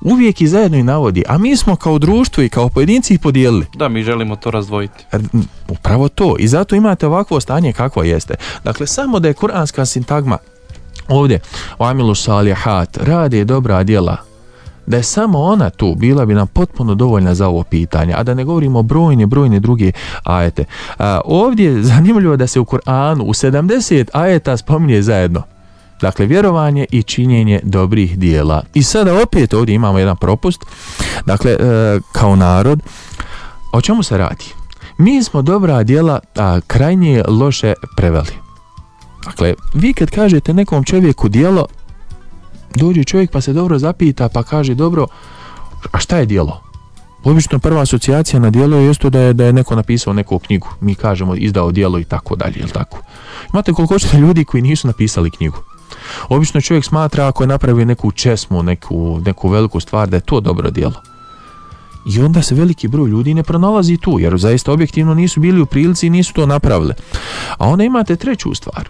Uvijek i zajedno i navodi, a mi smo kao društvo i kao pojedinci ih podijelili. Da, mi želimo to razdvojiti. Upravo to, i zato imate ovakvo stanje kakvo jeste. Dakle, samo da je kuranska sintagma ovdje, o amilu salihat, rade dobra djela, da je samo ona tu, bila bi nam potpuno dovoljna za ovo pitanje, a da ne govorimo o brojne, brojne druge ajete. A, ovdje je zanimljivo da se u Kur'anu u sedamdeset ajeta spominje zajedno. Dakle, vjerovanje i činjenje dobrih dijela. I sada opet ovdje imamo jedan propust. Dakle, e, kao narod, o čemu se radi? Mi smo dobra djela a, krajnje loše preveli. Dakle, vi kad kažete nekom čovjeku djelo, dođe čovjek pa se dobro zapita pa kaže dobro, a šta je djelo? Obično prva asocijacija na djelo je isto da je, da je neko napisao neku knjigu. Mi kažemo izdao djelo i tako dalje, jel tako? Imate koliko hoćete ljudi koji nisu napisali knjigu. Obično čovjek smatra ako je napravio neku česmu, neku, neku veliku stvar, da je to dobro djelo. I onda se veliki broj ljudi ne pronalazi tu, jer zaista objektivno nisu bili u prilici i nisu to napravili. A onda imate treću stvar.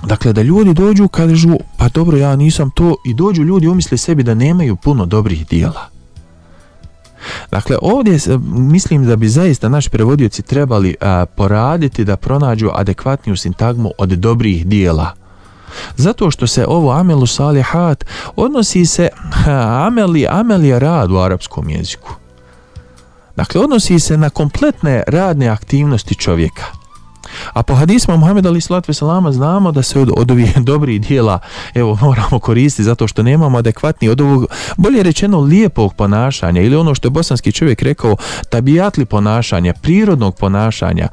Dakle, da ljudi dođu, kažu, pa dobro, ja nisam to, i dođu ljudi umisle sebi da nemaju puno dobrih dijela. Dakle, ovdje mislim da bi zaista naši prevodioci trebali a, poraditi da pronađu adekvatniju sintagmu od dobrih dijela. Zato što se ovo amelu salihat odnosi se, ameli, amel je rad u arapskom jeziku. Dakle, odnosi se na kompletne radne aktivnosti čovjeka. A po hadisma Muhameda alejhi selatu vesselam znamo da se od, od ovih dobrih dijela evo moramo koristiti zato što nemamo adekvatni od ovog, bolje rečeno, lijepog ponašanja ili ono što je bosanski čovjek rekao tabijatli ponašanja, prirodnog ponašanja,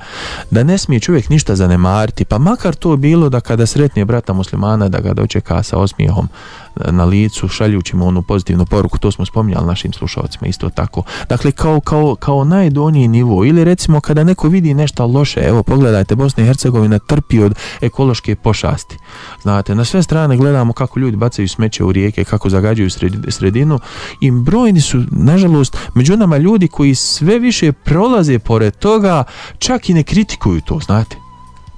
da ne smije čovjek ništa zanemariti, pa makar to bilo da kada sretne brata muslimana da ga dočeka sa osmijehom na licu, šaljući mu onu pozitivnu poruku, to smo spominjali našim slušalcima isto tako. Dakle, kao, kao, kao najdoniji nivo, ili recimo kada neko vidi nešto loše, evo pogledajte, Bosna i Hercegovina trpi od ekološke pošasti. Znate, na sve strane gledamo kako ljudi bacaju smeće u rijeke, kako zagađuju sredinu i brojni su, nažalost, među nama ljudi koji sve više prolaze pored toga, čak i ne kritikuju to, znate.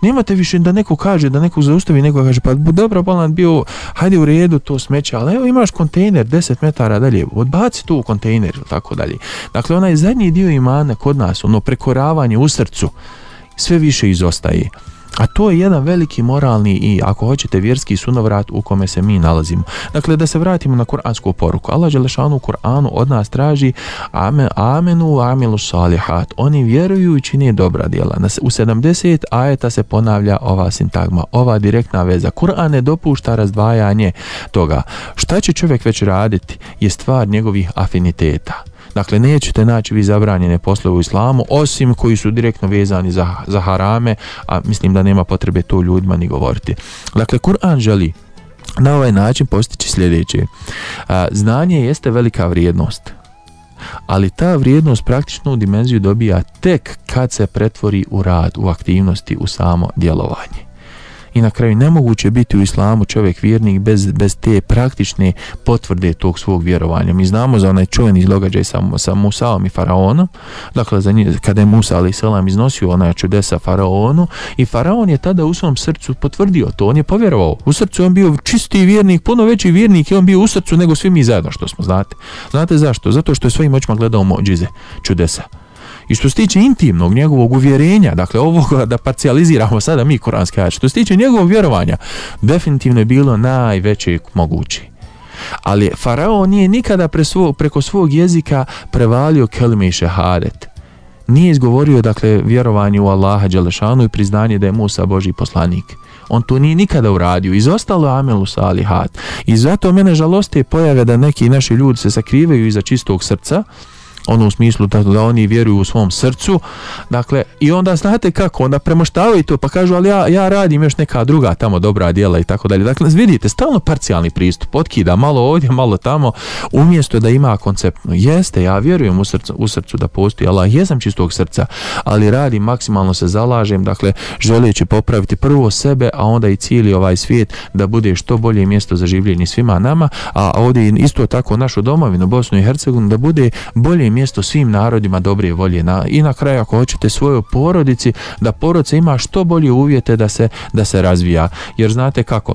Nemate više da neko kaže, da neko zaustavi, neko kaže pa dobro, bolan bio, hajde u redu to smeće, ali evo imaš kontejner deset metara dalje, odbaci to u kontejner, tako dalje. Dakle, onaj zadnji dio imana kod nas, ono prekoravanje u srcu, sve više izostaje. A to je jedan veliki moralni i, ako hoćete, vjerski sunovrat u kome se mi nalazimo. Dakle, da se vratimo na kuransku poruku. Allah dželešanu u Kur'anu od nas traži amen, amenu amilu salihat. Oni vjeruju i čine dobra djela. U sedamdeset ajeta se ponavlja ova sintagma, ova direktna veza. Kur'an ne dopušta razdvajanje toga. Šta će čovjek već raditi je stvar njegovih afiniteta. Dakle, nećete naći vi zabranjene poslove u islamu, osim koji su direktno vezani za, za harame, a mislim da nema potrebe to ljudima ni govoriti. Dakle, Kur'an želi na ovaj način postići sljedeće. A, znanje jeste velika vrijednost, ali ta vrijednost praktičnu dimenziju dobija tek kad se pretvori u rad, u aktivnosti, u samo djelovanje. I na kraju nemoguće biti u islamu čovjek vjernik bez, bez te praktične potvrde tog svog vjerovanja. Mi znamo za onaj čuveni događaj sa, sa Musaom i Faraonom, dakle za nje, kada je Musa alejhi selam iznosio onaj čudesa Faraonu, i Faraon je tada u svom srcu potvrdio to, on je povjerovao. U srcu je on bio čisti vjernik, puno veći vjernik je on bio u srcu nego svi mi zajedno što smo, znate. Znate zašto? Zato što je svojim očima gledao mođize, čudesa. I što se tiče intimnog njegovog uvjerenja, dakle ovoga da parcijaliziramo sada mi kuranski ajet, što se tiče njegovog vjerovanja, definitivno je bilo najveće moguće. Ali Faraon nije nikada pre svog, preko svog jezika prevalio kelime i šehadet. Nije izgovorio, dakle, vjerovanje u Allaha dželešanu i priznanje da je Musa Božji poslanik. On to nije nikada uradio, izostalo amelu salihat. I zato mene žaloste pojave da neki naši ljudi se sakrivaju iza čistog srca, ono u smislu da, da oni vjeruju u svom srcu, dakle, i onda znate kako, onda premoštavaju to pa kažu, ali ja, ja radim još neka druga tamo dobra djela i tako dalje. Dakle, vidite, stalno parcijalni pristup, otkida malo ovdje, malo tamo, umjesto da ima konceptno. Jeste, ja vjerujem u srcu, u srcu da postoji Allah, jesam čistog srca, ali radim, maksimalno se zalažem, dakle, želeći popraviti prvo sebe, a onda i cijeli ovaj svijet da bude što bolje mjesto za življenje svima nama, a ovdje isto tako našu domovinu, Bosnu i Hercegovinu, da bude bolje mjesto svim narodima dobre volje, na, i na kraju ako hoćete svojoj porodici, da porodica ima što bolje uvjete da se, da se razvija, jer znate kako,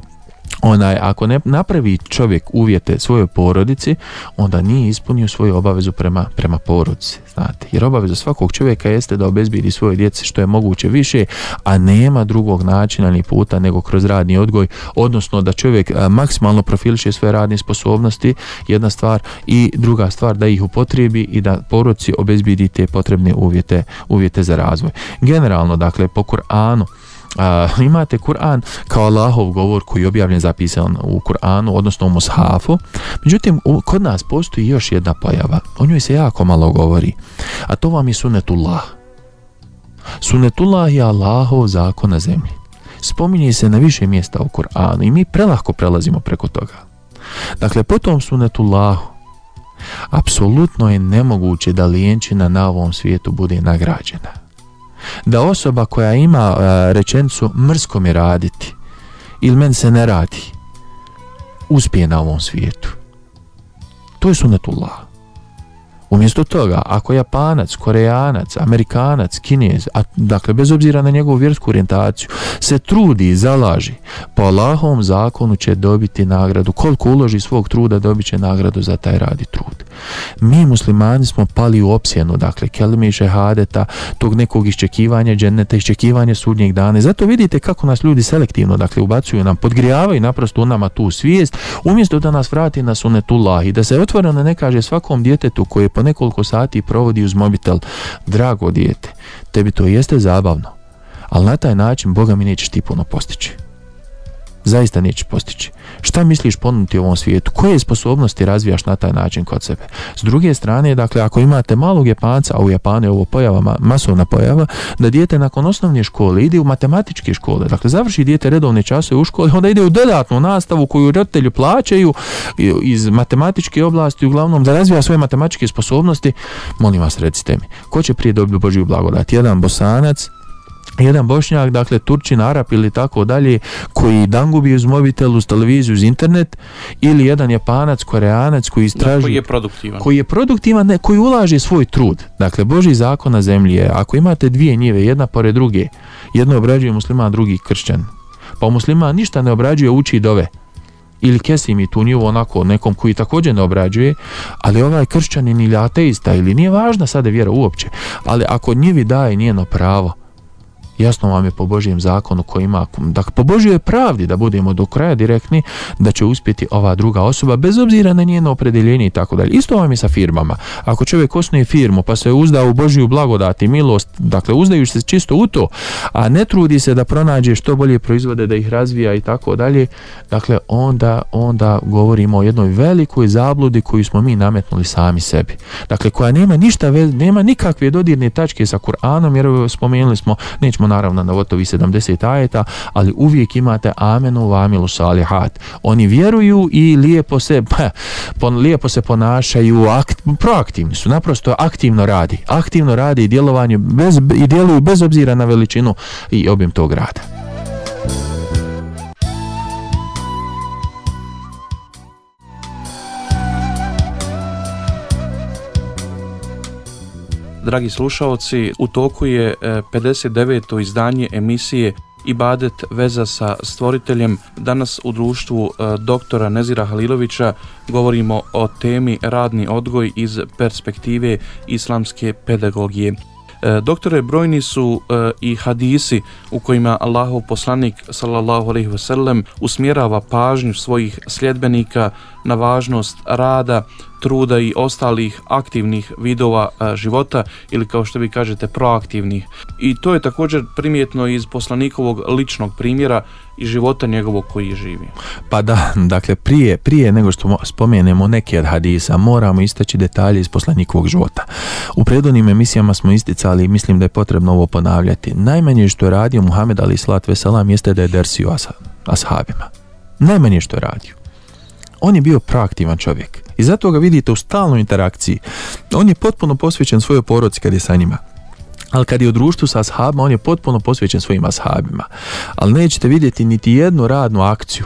onaj, ako ne napravi čovjek uvjete svojoj porodici, onda nije ispunio svoju obavezu prema, prema porodici, znate, jer obaveza svakog čovjeka jeste da obezbijedi svoje djece što je moguće više, a nema drugog načina ni puta nego kroz radni odgoj, odnosno da čovjek a, maksimalno profiliše svoje radne sposobnosti, jedna stvar, i druga stvar da ih upotrijebi i da porodici obezbijedi te potrebne uvjete, uvjete za razvoj. Generalno, dakle, po Kur'anu, Uh, imate Kur'an kao Allahov govor koji je objavljen, zapisan u Kur'anu, odnosno u Mushafu. Međutim, u, kod nas postoji još jedna pojava, o njoj se jako malo govori, a to vam je sunetullah. Sunetullah je Allahov zakon na zemlji. Spominje se na više mjesta u Kur'anu i mi prelahko prelazimo preko toga. Dakle, po tom sunetullahu apsolutno je nemoguće da lijenčina na ovom svijetu bude nagrađena. Da osoba koja ima uh, rečenicu mrsko mi raditi ili men se ne radi, uspije na ovom svijetu. To je sunetullah. Umjesto toga, ako Japanac, Korejanac, Amerikanac, Kinez, a, dakle bez obzira na njegovu vjersku orijentaciju, se trudi i zalaži, po Allahovom zakonu će dobiti nagradu. Koliko uloži svog truda, dobit će nagradu za taj rad i trud. Mi muslimani smo pali u opsjenu, dakle kelime i šehadeta, tog nekog iščekivanja dženneta, iščekivanja sudnjeg dana. Zato vidite kako nas ljudi selektivno, dakle, ubacuju nam, podgrijavaju naprosto u nama tu svijest, umjesto da nas vrati na sunetullah i da se otvoreno ne kaže svakom djetetu koje po nekoliko sati provodi uz mobitel, drago dijete, tebi to jeste zabavno, ali na taj način Boga mi nećeš ti puno postići. Zaista nećeš postići. Šta misliš ponuditi u ovom svijetu? Koje sposobnosti razvijaš na taj način kod sebe? S druge strane, dakle, ako imate malog Japanca, a u Japanu je ovo pojava, masovna pojava, da dijete nakon osnovne škole ide u matematičke škole, dakle, završi dijete redovne časove u školi, onda ide u dodatnu nastavu koju roditelji plaćaju iz matematičke oblasti, uglavnom da razvija svoje matematičke sposobnosti. Molim vas, recite mi, ko će prije dobiti Božju blagodat? Jedan Bosanac, jedan Bošnjak, dakle Turčin, Arap ili tako dalje, koji dangubi uz mobitel, uz televiziju, uz internet, ili jedan Japanac, Koreanac koji istraži, koji je produktivan, koji je produktivan, ne, koji ulaže svoj trud. Dakle, Božji zakon na zemlji je, ako imate dvije njive, jedna pored druge, jedno obrađuje musliman, drugi kršćan, pa musliman ništa ne obrađuje, uči dove, ili kesi mi tu njivu onako nekom koji također ne obrađuje, ali ovaj kršćanin ili ateista, ili nije važna sada vjera uopće, ali ako njivi daje njeno pravo, jasno vam je po Božjem zakonu koji ima, dakle po Božjoj pravdi, da budemo do kraja direktni, da će uspjeti ova druga osoba bez obzira na njeno opredjeljenje i tako dalje. Isto vam je sa firmama. Ako čovjek osnuje firmu pa se uzda u Božju blagodat i milost, dakle uzdajući se čisto u to, a ne trudi se da pronađe što bolje proizvode, da ih razvija i tako dalje, dakle onda, onda govorimo o jednoj velikoj zabludi koju smo mi nametnuli sami sebi. Dakle, koja nema ništa, nema nikakve dodirne tačke sa Kur'anom, jer spomenuli smo, nećemo naravno na gotovi sedamdeset ajeta, ali uvijek imate amenu wa amilu salihat. Oni vjeruju i lijepo se, pa, pon, lijepo se ponašaju, akt, proaktivni su, naprosto aktivno radi. Aktivno radi i djelovanje bez, i djeluju bez obzira na veličinu i obim tog rada. Dragi slušaoci, u toku je pedeset deveto izdanje emisije Ibadet, veza sa stvoriteljem. Danas u društvu doktora Nezira Halilovića govorimo o temi radni odgoj iz perspektive islamske pedagogije. Doktore, brojni su e, i hadisi u kojima Allahov poslanik sallallahu alejhi ve sellem usmjerava pažnju svojih sljedbenika na važnost rada, truda i ostalih aktivnih vidova e, života, ili kao što vi kažete proaktivnih. I to je također primjetno iz poslanikovog ličnog primjera i života njegovog koji je živio. Pa da, dakle prije, prije nego što spomenemo neke od hadisa, moramo istaći detalje iz poslanikovog života. U prethodnim emisijama smo isticali i mislim da je potrebno ovo ponavljati. Najmanje što je radio Muhammed alejhi selatu vesselam jeste da je dersio ashabima. Najmanje što je radio. On je bio proaktivan čovjek i zato ga vidite u stalnoj interakciji. On je potpuno posvećen svojoj porodici kad je sa njima. Ali kad je u društvu sa ashabima, on je potpuno posvećen svojim ashabima. Ali nećete vidjeti niti jednu radnu akciju,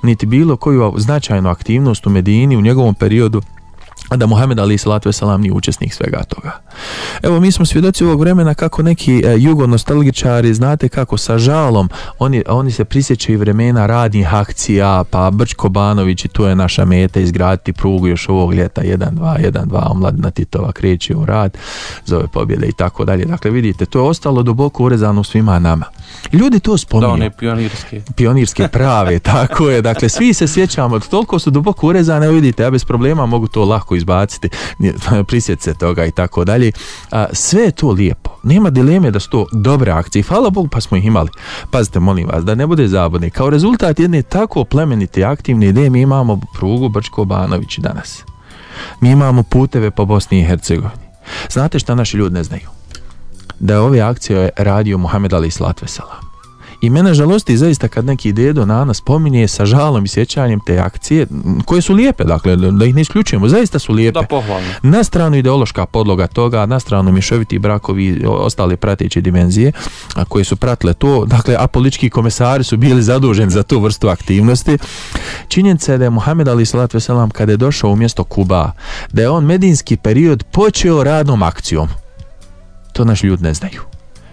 niti bilo koju značajnu aktivnost u Medini u njegovom periodu, a da Muhammed alejhi selatu vesselam nije učesnik svega toga. Evo, mi smo svjedoci ovog vremena kako neki e, jugonostalgičari, znate kako, sa žalom, oni, oni se prisjećaju vremena radnih akcija, pa Brčko Banović i tu je naša meta, izgraditi prugu još ovog ljeta, jedan dva, jedan dva, omladina Titova kreće u rad, zove pobjede i tako dalje. Dakle, vidite, to je ostalo duboko urezano svima nama. Ljudi to spominju. Da, one pionirske. Pionirske prave, tako je. Dakle, svi se sjećamo, toliko su duboko urezane, vidite, ja bez problema mogu to lako izbaciti, prisjet se toga i tako dalje. Sve je to lijepo. Nema dileme da su to dobre akcije. Hvala Bogu pa smo ih imali. Pazite, molim vas, da ne bude zabune. Kao rezultat jedne tako plemenite aktivne ideje mi imamo prugu Brčko Banović danas. Mi imamo puteve po Bosni i Hercegovini. Znate šta naši ljudi ne znaju? Da je ove akcije radio Muhammed alejhi selatu vesselam. I mene žalosti zaista kad neki dedo nana spominje sa žalom i sjećanjem te akcije, koje su lijepe, dakle, da ih ne isključujemo, zaista su lijepe. Da, pohvalno. Na stranu ideološka podloga toga, na stranu mješoviti brakovi i ostale prateće dimenzije, a koje su pratile to, dakle, a politički komesari su bili zaduženi za tu vrstu aktivnosti. Činjenica je da je Muhammed alejhi selatu vesselam kada je došao u mjesto Kuba, da je on medinski period počeo radnom akcijom. To naši ljudi ne znaju.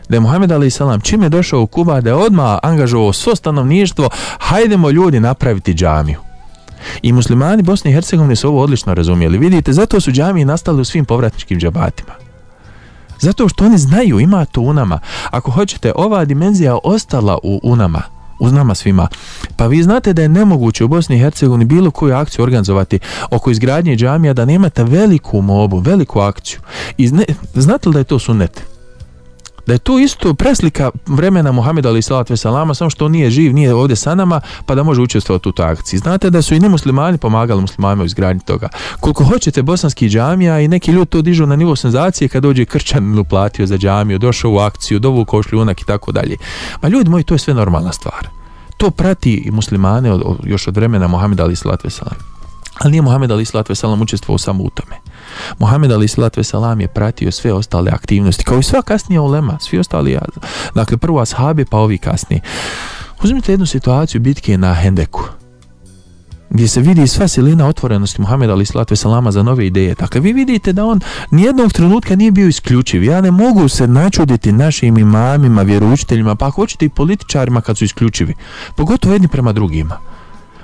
Da je Muhammed alejhi selam čim je došao u Kuba, da je odmah angažovao svo stanovništvo, hajdemo ljudi napraviti džamiju. I muslimani Bosne i Hercegovine su ovo odlično razumjeli. Vidite, zato su džamije nastale u svim povratničkim džabatima. Zato što oni znaju, ima to u nama. Ako hoćete, ova dimenzija ostala u, u nama, u nama svima. Pa vi znate da je nemoguće u Bosni i Hercegovini bilo koju akciju organizovati oko izgradnje džamija da nemate veliku mobu, veliku akciju. I zne, znate li da je to sunnet? Da je to isto preslika vremena Muhameda alejhi selatu vesselama, samo što on nije živ, nije ovdje sa nama, pa da može učestvovati u toj akciji. Znate da su i nemuslimani pomagali muslimanima u izgradnji toga. Koliko hoćete bosanskih džamija i neki ljudi to dižu na nivo senzacije kad dođe kršćanin uplatio za džamiju, došao u akciju, dovukao šljunak i tako dalje. Ma ljudi moji, to je sve normalna stvar. To prati i muslimane od, od, još od vremena Muhameda alejhi selatu vesselam. Ali nije Muhammed alejhi selatu vesselam učestvovao samo u tome. Muhammed alejhi selatu vesselam je pratio sve ostale aktivnosti, kao i sva kasnija ulema, svi ostali, dakle prvo ashabi pa ovi kasniji. Uzmite jednu situaciju bitke na Hendeku, gdje se vidi sva silina otvorenosti Muhameda alejhi selatu vesselama za nove ideje. Dakle, vi vidite da on nijednog trenutka nije bio isključiv. Ja ne mogu se načuditi našim imamima, vjeroučiteljima, pa ako hoćete i političarima kad su isključivi, pogotovo jedni prema drugima.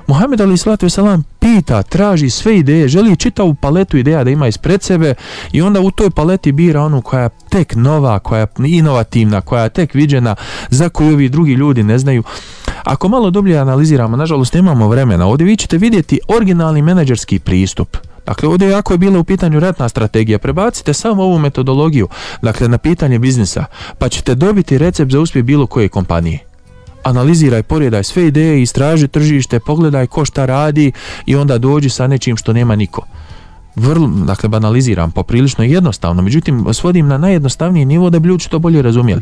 Muhammed alejhi selatu vesselam pita, traži sve ideje, želi čitavu paletu ideja da ima ispred sebe i onda u toj paleti bira onu koja je tek nova, koja je inovativna, koja je tek viđena, za koju ovi drugi ljudi ne znaju. Ako malo dublje analiziramo, nažalost nemamo vremena, ovdje vi ćete vidjeti originalni menadžerski pristup. Dakle, ovdje ako je bila u pitanju ratna strategija, prebacite samo ovu metodologiju, dakle, na pitanje biznisa, pa ćete dobiti recept za uspjeh bilo koje kompanije. Analiziraj, poredaj sve ideje, istraži tržište, pogledaj ko šta radi i onda dođi sa nečim što nema niko. vrlo, dakle banaliziram, poprilično jednostavno, međutim svodim na najjednostavniji nivo da bi ljudi to bolje razumjeli.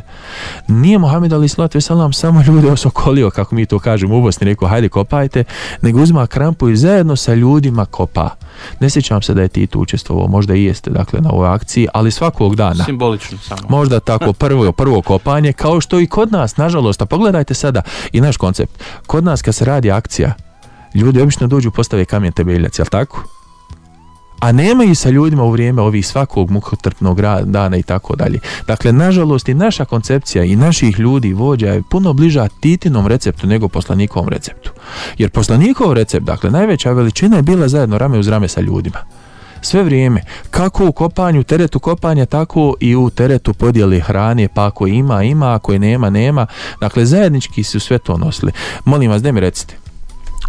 Nije Muhammed alejhi selatu vesselam samo ljude osokolio, kako mi to kažemo u Bosni, rekao hajde kopajte, nego uzima krampu i zajedno sa ljudima kopa. Ne sjećam se da je Tito učestvovao, možda i jeste, dakle, na ovoj akciji, ali svakog dana. Simbolično samo. Možda tako prvo, prvo kopanje, kao što i kod nas, nažalost, a pogledajte sada i naš koncept. Kod nas kad se radi akcija, ljudi obično dođu postave kamen temeljac, jel tako? A nema i sa ljudima u vrijeme ovih svakog mukotrpnog dana i tako dalje. Dakle, nažalost i naša koncepcija i naših ljudi vođa je puno bliža Titinom receptu nego poslanikovom receptu. Jer poslanikov recept, dakle, najveća veličina je bila zajedno rame uz rame sa ljudima. Sve vrijeme, kako u kopanju, teretu kopanja, tako i u teretu podjeli hrane, pa ako ima, ima, ako je nema, nema. Dakle, zajednički su sve to nosili. Molim vas, da mi recite,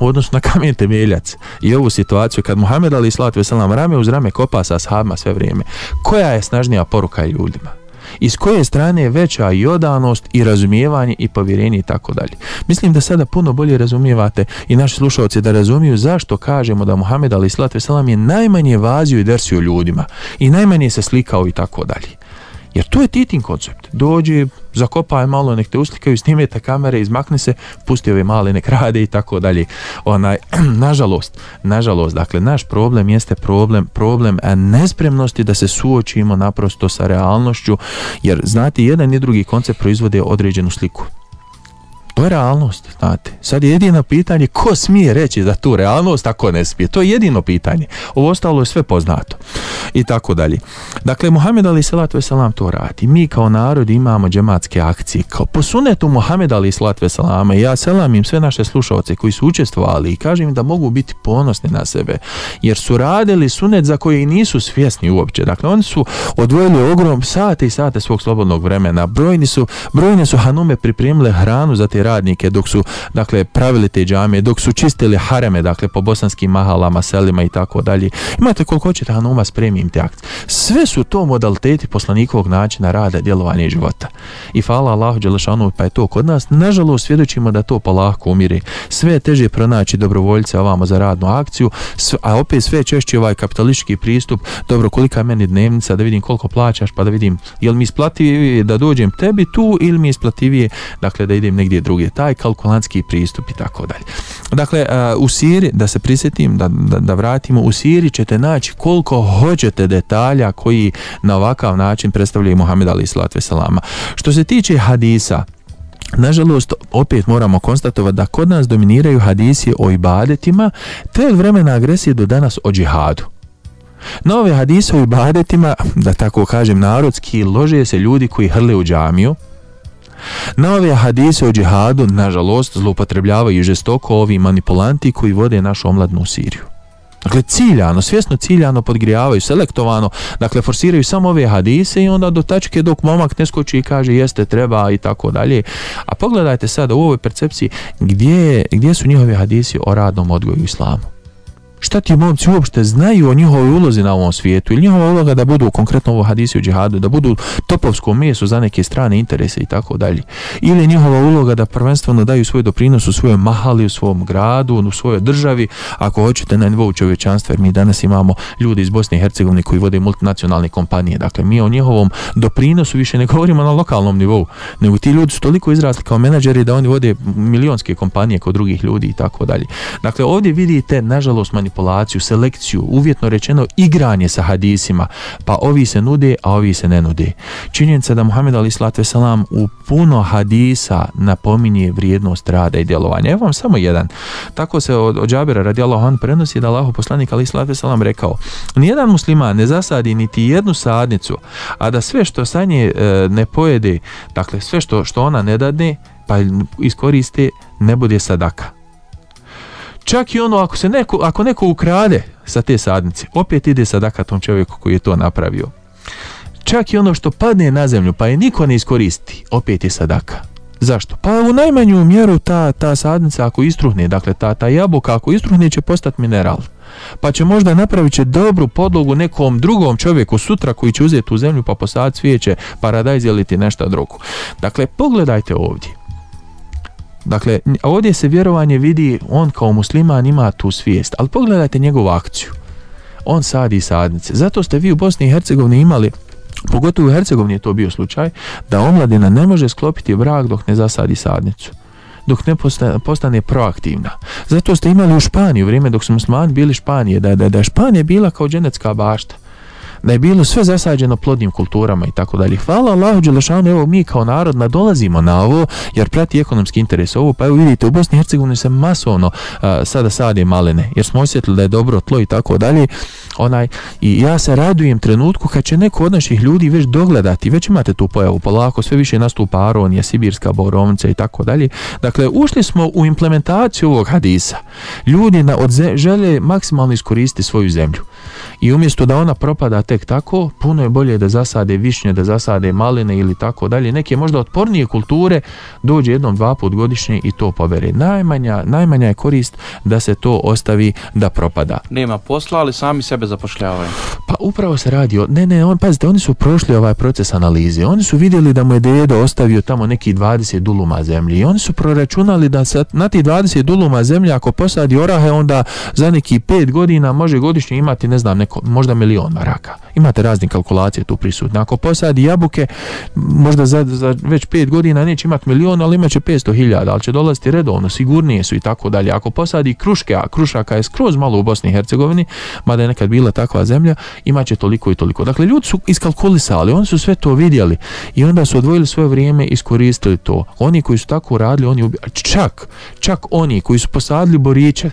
u odnosu na kamen temeljac i ovu situaciju kad Muhammed alejhi selatu vesselam rame uz rame kopa sa ashabima sve vrijeme, koja je snažnija poruka ljudima? I s koje strane je veća i odanost i razumijevanje i povjerenje i tako dalje. Mislim da sada puno bolje razumijevate i naši slušalci da razumiju zašto kažemo da Muhammed alejhi selatu vesselam je najmanje vazio i dersio ljudima i najmanje se slikao i tako dalje. Jer to je Titin koncept. Dođe, zakopaj malo, nek te uslikaju, snimete kamere, izmakne se, pusti ove male, nek rade i tako dalje. Onaj, nažalost, nažalost, dakle, naš problem jeste problem, problem nespremnosti da se suočimo naprosto sa realnošću, jer, znate, jedan i drugi koncept proizvode određenu sliku. To je realnost, znate. Sad je jedino pitanje ko smije reći za tu realnost, a ko ne smije. To je jedino pitanje. Ovo ostalo je sve poznato. I tako dalje. Dakle, Muhammed alejhi selatu vesselam to radi. Mi kao narod imamo džematske akcije. Kao po sunetu Muhammed alejhi selatu vesselama, ja selamim sve naše slušalce koji su učestvovali i kažem im da mogu biti ponosni na sebe. Jer su radili sunet za koje i nisu svjesni uopće. Dakle, oni su odvojili ogrom sate i sate svog slobodnog vremena. Brojni su, brojne su hanume pripremile hranu za te radnike dok su, dakle, pravili te džamije, dok su čistili hareme, dakle, po bosanskim mahalama, selima i tako dalje. Imate koliko hoćete hanuma, spremim te akcije. Sve su to modaliteti poslanikovog načina rada, djelovanja i života. I hvala Allahu dželešanu, pa je to kod nas. Nažalost, svjedočimo da to polako umire. Sve je teže pronaći dobrovoljce ovamo za radnu akciju, a opet sve češće ovaj kapitalistički pristup, dobro, kolika je meni dnevnica, da vidim koliko plaćaš, pa da vidim je li mi isplativije da dođem tebi tu ili mi isplativije, dakle, da idem negdje druge. Taj kalkulantski pristup i tako dalje. Dakle, uh, u siri, da se prisjetim, da, da, da vratimo, u siri ćete naći koliko hoćete detalja koji na ovakav način predstavljaju Muhammed alejhi selatu vesselama. Što se tiče hadisa, nažalost, opet moramo konstatovati da kod nas dominiraju hadisi o ibadetima, te od vremena agresije do danas o džihadu. Na ove hadise o ibadetima, da tako kažem narodski, lože se ljudi koji hrle u džamiju. Na ove hadise o džihadu, nažalost, zloupotrebljavaju žestoko ovi manipulanti koji vode našu omladnu Siriju. Dakle, ciljano, svjesno ciljano podgrijavaju, selektovano, dakle, forsiraju samo ove hadise i onda do tačke dok momak ne skoči i kaže jeste, treba i tako dalje. A pogledajte sada u ovoj percepciji gdje, gdje su njihovi hadisi o radnom odgoju u islamu. Šta ti momci uopšte znaju o njihovoj ulozi na ovom svijetu ili njihova uloga da budu konkretno ovo hadisi u džihadu, da budu topovsko meso za neke strane interese i tako dalje. Ili njihova uloga da prvenstveno daju svoj doprinos u svojoj mahali, u svom gradu, u svojoj državi, ako hoćete na nivou čovječanstva, jer mi danas imamo ljudi iz Bosne i Hercegovine koji vode multinacionalne kompanije. Dakle, mi o njihovom doprinosu više ne govorimo na lokalnom nivou, nego ti ljudi su toliko izrasli kao menadžeri da oni vode milionske kompanije kod drugih ljudi i tako dalje. Dakle, ovdje vidite, nažalost, manipulaciju, selekciju, uvjetno rečeno igranje sa hadisima, pa ovi se nude, a ovi se ne nude. Činjenica da Muhammed alejhi selatu vesselam u puno hadisa napominje vrijednost rada i djelovanja. Evo vam samo jedan. Tako se od, od Džabira radijallahu anhu prenosi da Allahov poslanik alejhi selatu vesselam rekao: nijedan musliman ne zasadi niti jednu sadnicu, a da sve što sa nje e, ne pojede, dakle sve što, što ona ne dadne, pa iskoriste, ne bude sadaka. Čak i ono, ako se neko, ako neko ukrade sa te sadnice, opet ide sadaka tom čovjeku koji je to napravio. Čak i ono što padne na zemlju, pa je niko ne iskoristi, opet je sadaka. Zašto? Pa u najmanju mjeru ta, ta sadnica ako istruhne, dakle ta, ta jabuka ako istruhne će postati mineral. Pa će možda napravit će dobru podlogu nekom drugom čovjeku sutra koji će uzeti u zemlju pa posaditi cvijeće, paradajz ili ti nešto drugo. Dakle, pogledajte ovdje. Dakle, ovdje se vjerovanje vidi, on kao musliman ima tu svijest, ali pogledajte njegovu akciju. on sadi sadnice. Zato ste vi u Bosni i Hercegovini imali, pogotovo u Hercegovini je to bio slučaj, da omladina ne može sklopiti brak dok ne zasadi sadnicu, dok ne postane, postane proaktivna. Zato ste imali u Španiji, u vrijeme dok su muslimani bili Španije, da, da, da je Španija bila kao dženecka bašta, da je bilo sve zasađeno plodnim kulturama i tako dalje. Hvala Allahu dželešanu, evo mi kao narod nadolazimo na ovo jer prati ekonomski interes ovo, pa evo vidite u Bosni i Hercegovini se masovno uh, sada sade malene jer smo osjetili da je dobro tlo i tako dalje. Onaj, i ja se radujem trenutku kad će neko od naših ljudi već dogledati, već imate tu pojavu polako, sve više nastupa aronija, sibirska borovnica i tako dalje. Dakle, ušli smo u implementaciju ovog hadisa. Ljudi na, od ze, žele maksimalno iskoristiti svoju zemlju. I umjesto da ona propada tek tako, puno je bolje da zasade višnje, da zasade maline ili tako dalje. Neke možda otpornije kulture dođe jednom, dva put godišnje i to pobere. Najmanja, najmanja je korist da se to ostavi da propada. Nema posla, ali sami sebe zapošljavaju. Pa upravo se radi o... Ne, ne, on, pazite, oni su prošli ovaj proces analize. Oni su vidjeli da mu je dedo ostavio tamo neki dvadeset duluma zemlje i oni su proračunali da se na ti dvadeset duluma zemlje ako posadi orahe, onda za neki pet godina može godišnje imati, ne znam, neko, možda milion maraka. Imate razne kalkulacije tu prisutne. Ako posadi jabuke, možda za, za već pet godina neće imati milion, ali imat će petsto hiljada, ali će dolaziti redovno, sigurnije su i tako dalje. Ako posadi kruške, a krušaka je skroz malo u Bosni i Hercegovini, mada je nekad bila takva zemlja, imat će toliko i toliko. Dakle, ljudi su iskalkulisali, oni su sve to vidjeli i onda su odvojili svoje vrijeme i iskoristili to. Oni koji su tako radili, oni ubi... čak, čak oni koji su posadili boriće,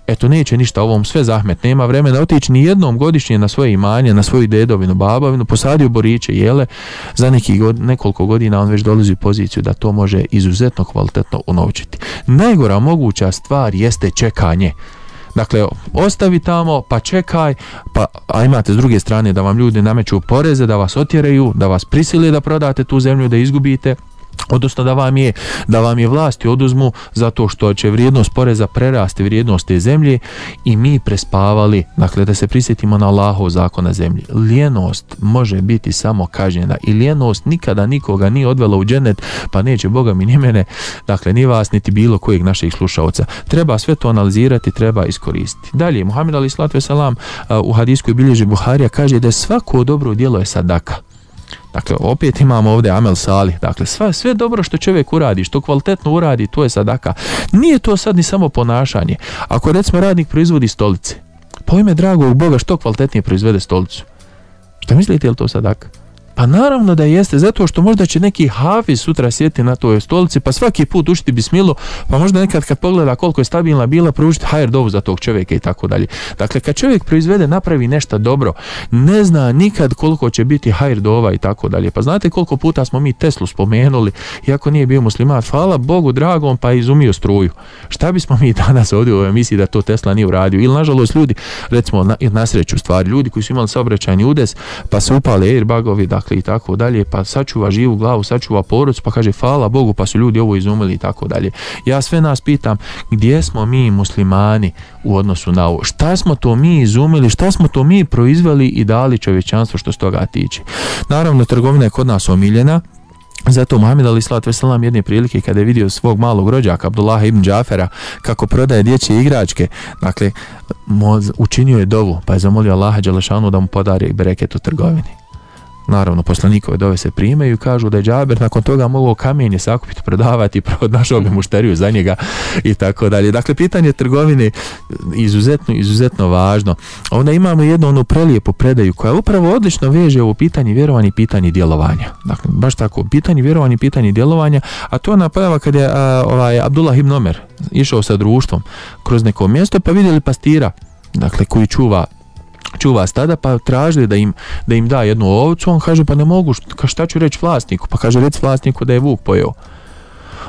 eto neće ništa ovom sve zahmet, nema vremena otići ni jednom godišnje na svoje imanje, na svoju dedovinu, babovinu, posadio boriće, jele, za neki god, nekoliko godina on već dolazi u poziciju da to može izuzetno kvalitetno unovčiti. Najgora moguća stvar jeste čekanje. Dakle, ostavi tamo, pa čekaj, pa, a imate s druge strane da vam ljudi nameću poreze, da vas otjeraju, da vas prisile da prodate tu zemlju, da izgubite, odnosno da vam je da vam je vlasti oduzmu zato što će vrijednost poreza prerasti vrijednost te zemlje i mi prespavali. Dakle, da se prisjetimo na Allahov zakon na zemlji. Lijenost može biti samo kažnjena i lijenost nikada nikoga nije odvela u džennet, pa neće Boga mi ni mene, dakle ni vas niti bilo kojeg naših slušaoca. Treba sve to analizirati, treba iskoristiti. Dalje, Muhammed alejhi selatu vesselam u hadisku koji bilježi Buharija kaže da je svako dobro djelo je sadaka. Dakle, opet imamo ovdje amel salih. Dakle, sve, sve dobro što čovjek uradi, što kvalitetno uradi, to je sadaka. Nije to sad ni samo ponašanje. Ako recimo radnik proizvodi stolice, po ime dragog Boga što kvalitetnije proizvede stolicu, šta mislite, je li to sadaka? Pa naravno da jeste, zato što možda će neki hafiz sutra sjeti na toj stolici, pa svaki put učiti bismilu, pa možda nekad kad pogleda koliko je stabilna bila, proučiti hajr dovu za tog čovjeka i tako dalje. Dakle, kad čovjek proizvede, napravi nešto dobro, ne zna nikad koliko će biti hajr dova i tako dalje. Pa znate koliko puta smo mi Teslu spomenuli, iako nije bio musliman, hvala Bogu dragom, pa izumio struju. Šta bismo mi danas ovdje u ovoj emisiji da to Tesla nije uradio? Ili nažalost ljudi, recimo na, na sreću stvari, ljudi koji su imali saobraćajni udes, pa se upale airbagovi, dakle i tako dalje, pa sačuva živu glavu, sačuva porodicu, pa kaže hvala Bogu, pa su ljudi ovo izumili i tako dalje. Ja sve nas pitam, gdje smo mi muslimani u odnosu na ovo? Šta smo to mi izumili, šta smo to mi proizveli i dali čovječanstvu što s toga tiče? Naravno, trgovina je kod nas omiljena. Zato Muhammed alejhi selatu vesselam jedne prilike kada je vidio svog malog rođaka Abdullaha ibn Džafera kako prodaje dječje igračke, dakle učinio je dovu, pa je zamolio Allaha dželešanu da mu podari bereket u trgovini. Naravno, poslanikove dove se primaju i kažu da je Džaber nakon toga mogao kamenje sakupiti, prodavati, našao bi mušteriju za njega i tako dalje. Dakle, pitanje trgovine izuzetno, izuzetno važno. Onda imamo jednu onu prelijepu predaju koja upravo odlično veže ovo pitanje vjerovanja i pitanje djelovanja. Dakle, baš tako, pitanje vjerovanja i pitanje djelovanja, a to ona pojava kad je a, ovaj, Abdullah ibn Omer išao sa društvom kroz neko mjesto, pa vidjeli pastira, dakle, koji čuva čuva stada, pa tražili da im, da im da jednu ovcu, on kaže pa ne mogu, šta ću reći vlasniku, pa kaže reci vlasniku da je vuk pojeo.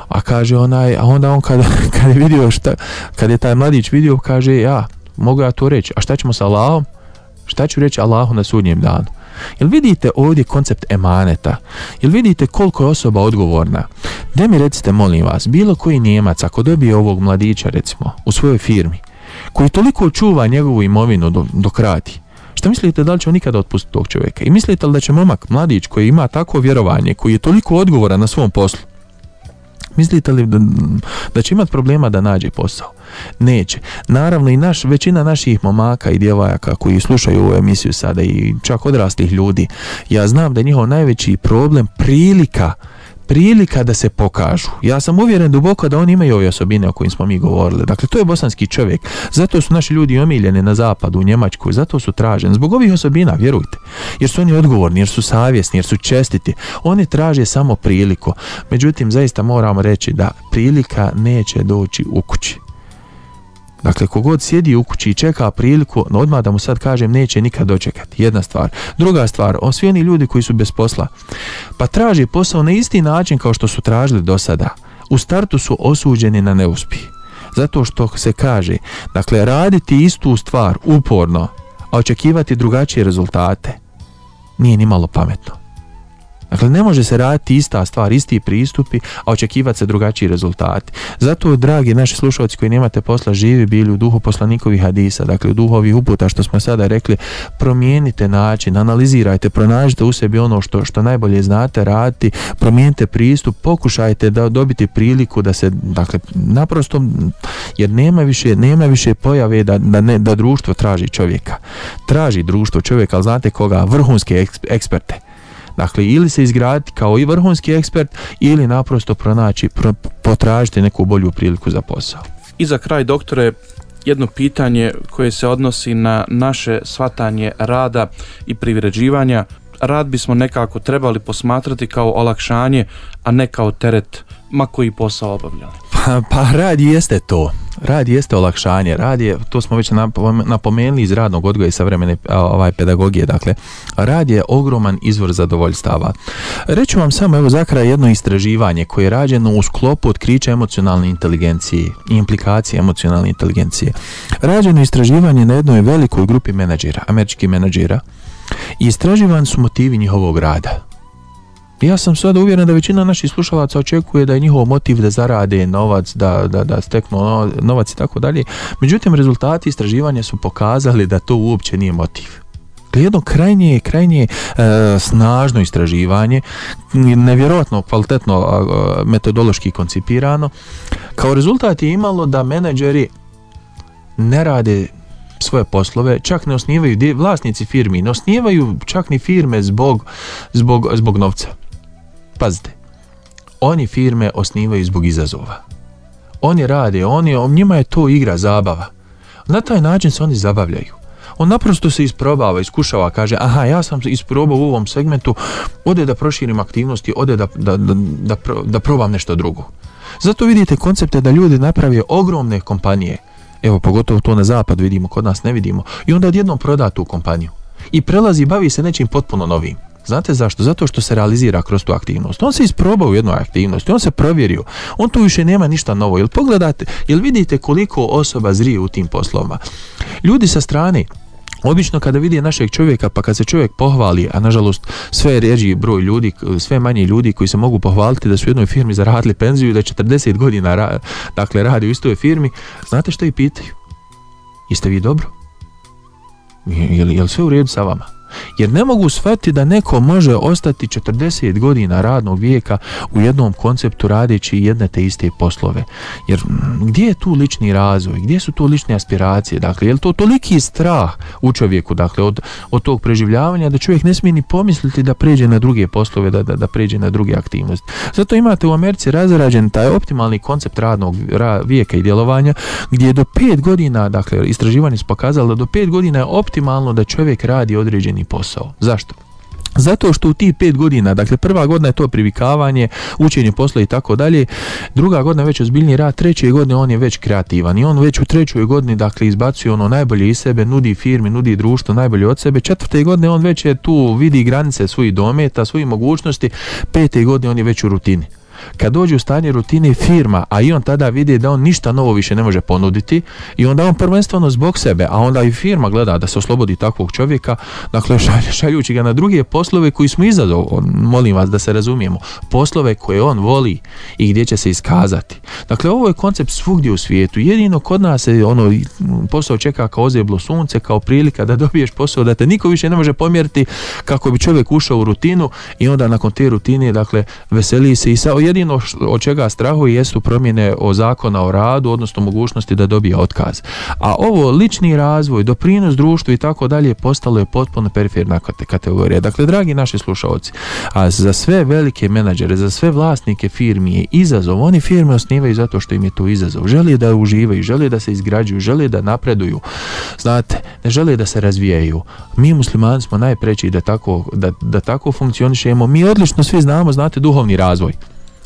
A kaže onaj, a onda on kada, kada je vidio šta, kada je taj mladić vidio, kaže ja, mogu ja to reći, a šta ćemo sa Allahom? Šta ću reći Allahu na sudnjem danu? Jel vidite ovdje koncept emaneta? Jel vidite koliko je osoba odgovorna? Da mi recite, molim vas, bilo koji Nijemac ako dobije ovog mladića recimo u svojoj firmi, koji toliko čuva njegovu imovinu dok, dok radi, šta mislite da li će on nikada otpustiti tog čovjeka? I mislite li da će momak, mladić koji ima takvo vjerovanje, koji je toliko odgovoran na svom poslu, Mislite li da, da će imati problema da nađe posao? Neće. Naravno i naš, većina naših momaka i djevojaka koji slušaju ovu emisiju sada i čak odraslih ljudi, ja znam da je njihov najveći problem prilika prilika da se pokažu. Ja sam uvjeren duboko da oni imaju ove osobine o kojim smo mi govorili. Dakle, to je bosanski čovjek. Zato su naši ljudi omiljeni na zapadu, u Njemačkoj, zato su traženi. Zbog ovih osobina, vjerujte. Jer su oni odgovorni, jer su savjesni, jer su čestiti. Oni traže samo priliku. Međutim, zaista moramo reći da prilika neće doći u kući. Dakle, kogod sjedi u kući i čeka priliku, no odmah da mu sad kažem, neće nikad dočekati. Jedna stvar. Druga stvar, on svi oni ljudi koji su bez posla, pa traže posao na isti način kao što su tražili do sada. U startu su osuđeni na neuspjeh. Zato što se kaže, dakle, raditi istu stvar uporno, a očekivati drugačije rezultate, nije ni malo pametno. Dakle, ne može se raditi ista stvar, isti pristupi, a očekivati se drugačiji rezultati. Zato, dragi naši slušalci koji nemate posla, živi bili u duhu poslanikovih hadisa, dakle u duhu ovih uputa što smo sada rekli, promijenite način, analizirajte, pronađite u sebi ono što, što najbolje znate raditi, promijenite pristup, pokušajte da dobiti priliku da se, dakle, naprosto, jer nema više, nema više pojave da, da, ne, da društvo traži čovjeka. Traži društvo čovjeka, ali znate koga? Vrhunske eksperte. Dakle, ili se izgraditi kao i vrhunski ekspert, ili naprosto pronaći, pro, potražiti neku bolju priliku za posao. I za kraj, doktore, jedno pitanje koje se odnosi na naše shvatanje rada i privređivanja. Rad bismo nekako trebali posmatrati kao olakšanje, a ne kao teret, ma koji posao obavljali. Pa, pa rad jeste to. Rad jeste olakšanje. Rad je, to smo već napomenuli iz radnog odgoja i savremene ovaj, pedagogije. Dakle, rad je ogroman izvor zadovoljstava. Reću vam samo evo za kraj jedno istraživanje koje je rađeno u sklopu otkrića emocionalne inteligencije i implikacije emocionalne inteligencije. Rađeno istraživanje na jednoj velikoj grupi menadžera, američkih menadžera, i istraživani su motivi njihovog rada. Ja sam sada uvjeren da većina naših slušalaca očekuje da je njihov motiv da zarade novac, da, da, da steknu novac i tako dalje. Međutim, rezultati istraživanja su pokazali da to uopće nije motiv. Jedno krajnje, krajnje e, snažno istraživanje, nevjerojatno kvalitetno e, metodološki koncipirano. Kao rezultat je imalo da menadžeri ne rade svoje poslove, čak ne osnivaju, vlasnici firmi ne osnivaju čak ni firme zbog, zbog, zbog novca. Pazite, oni firme osnivaju zbog izazova. Oni rade, oni, njima je to igra, zabava. Na taj način se oni zabavljaju. On naprosto se isprobava, iskušava, kaže, aha, ja sam isprobao u ovom segmentu, ode da proširim aktivnosti, ode da, da, da, da, da probam nešto drugo. Zato vidite koncepte da ljudi naprave ogromne kompanije. Evo, pogotovo to na zapad vidimo, kod nas ne vidimo. I onda odjednom proda tu kompaniju. I prelazi, bavi se nečim potpuno novim. Znate zašto? Zato što se realizira kroz tu aktivnost. On se isprobao u jednoj aktivnosti, on se provjerio. On tu više nema ništa novo. Jel pogledate, jel vidite koliko osoba zrije u tim poslovima? Ljudi sa strane, obično kada vidi našeg čovjeka, pa kad se čovjek pohvali, a nažalost sve ređi broj ljudi, sve manje ljudi koji se mogu pohvaliti da su u jednoj firmi zaradili penziju i da četrdeset godina ra, dakle, radi u istoj firmi, znate što i pitaju? Jeste vi dobro? Je li, je li sve u redu sa vama? Jer ne mogu shvatiti da neko može ostati četrdeset godina radnog vijeka u jednom konceptu radeći jedne te iste poslove. Jer gdje je tu lični razvoj, gdje su tu lične aspiracije? Dakle, je li to toliki strah u čovjeku, dakle, od, od tog preživljavanja da čovjek ne smije ni pomisliti da pređe na druge poslove, da, da, da pređe na druge aktivnosti. Zato imate u Americi razrađen taj optimalni koncept radnog ra, vijeka i djelovanja, gdje je do pet godina, dakle, istraživanje su pokazalo da do pet godina je optimalno da čovjek radi određeni posao. Zašto? Zato što u tih pet godina, dakle prva godina je to privikavanje, učenje posla i tako dalje, druga godina je već ozbiljniji rad, treće godine on je već kreativan i on već u trećoj godini, dakle, izbacuje ono najbolje iz sebe, nudi firmi, nudi društvo najbolje od sebe, četvrte godine on već je tu, vidi granice svojih dometa, svojih mogućnosti, pete godine on je već u rutini. Kad dođe u stanje rutine firma, a i on tada vidi da on ništa novo više ne može ponuditi i onda on prvenstveno zbog sebe, a onda i firma gleda da se oslobodi takvog čovjeka, dakle šaljući ga na druge poslove koji smo izazov, molim vas da se razumijemo, poslove koje on voli i gdje će se iskazati. Dakle, ovo je koncept svugdje u svijetu, jedino kod nas se ono posao čeka kao ozeblo sunce, kao prilika da dobiješ posao, da te niko više ne može pomjeriti, kako bi čovjek ušao u rutinu i onda nakon te rutine, dakle, veseli se i sa jedino od čega strahuje jesu promjene o zakona o radu, odnosno mogućnosti da dobije otkaz. A ovo lični razvoj, doprinos društvu i tako dalje postalo je potpuno periferna kategorija. Dakle, dragi naši slušalci, a za sve velike menadžere, za sve vlasnike firmi je izazov. Oni firme osnivaju zato što im je to izazov. Žele da uživaju, žele da se izgrađuju, žele da napreduju. Znate, ne žele da se razvijaju. Mi muslimani smo najpreći da tako, da, da tako funkcionišemo. Mi odlično svi znamo, znate, duhovni razvoj.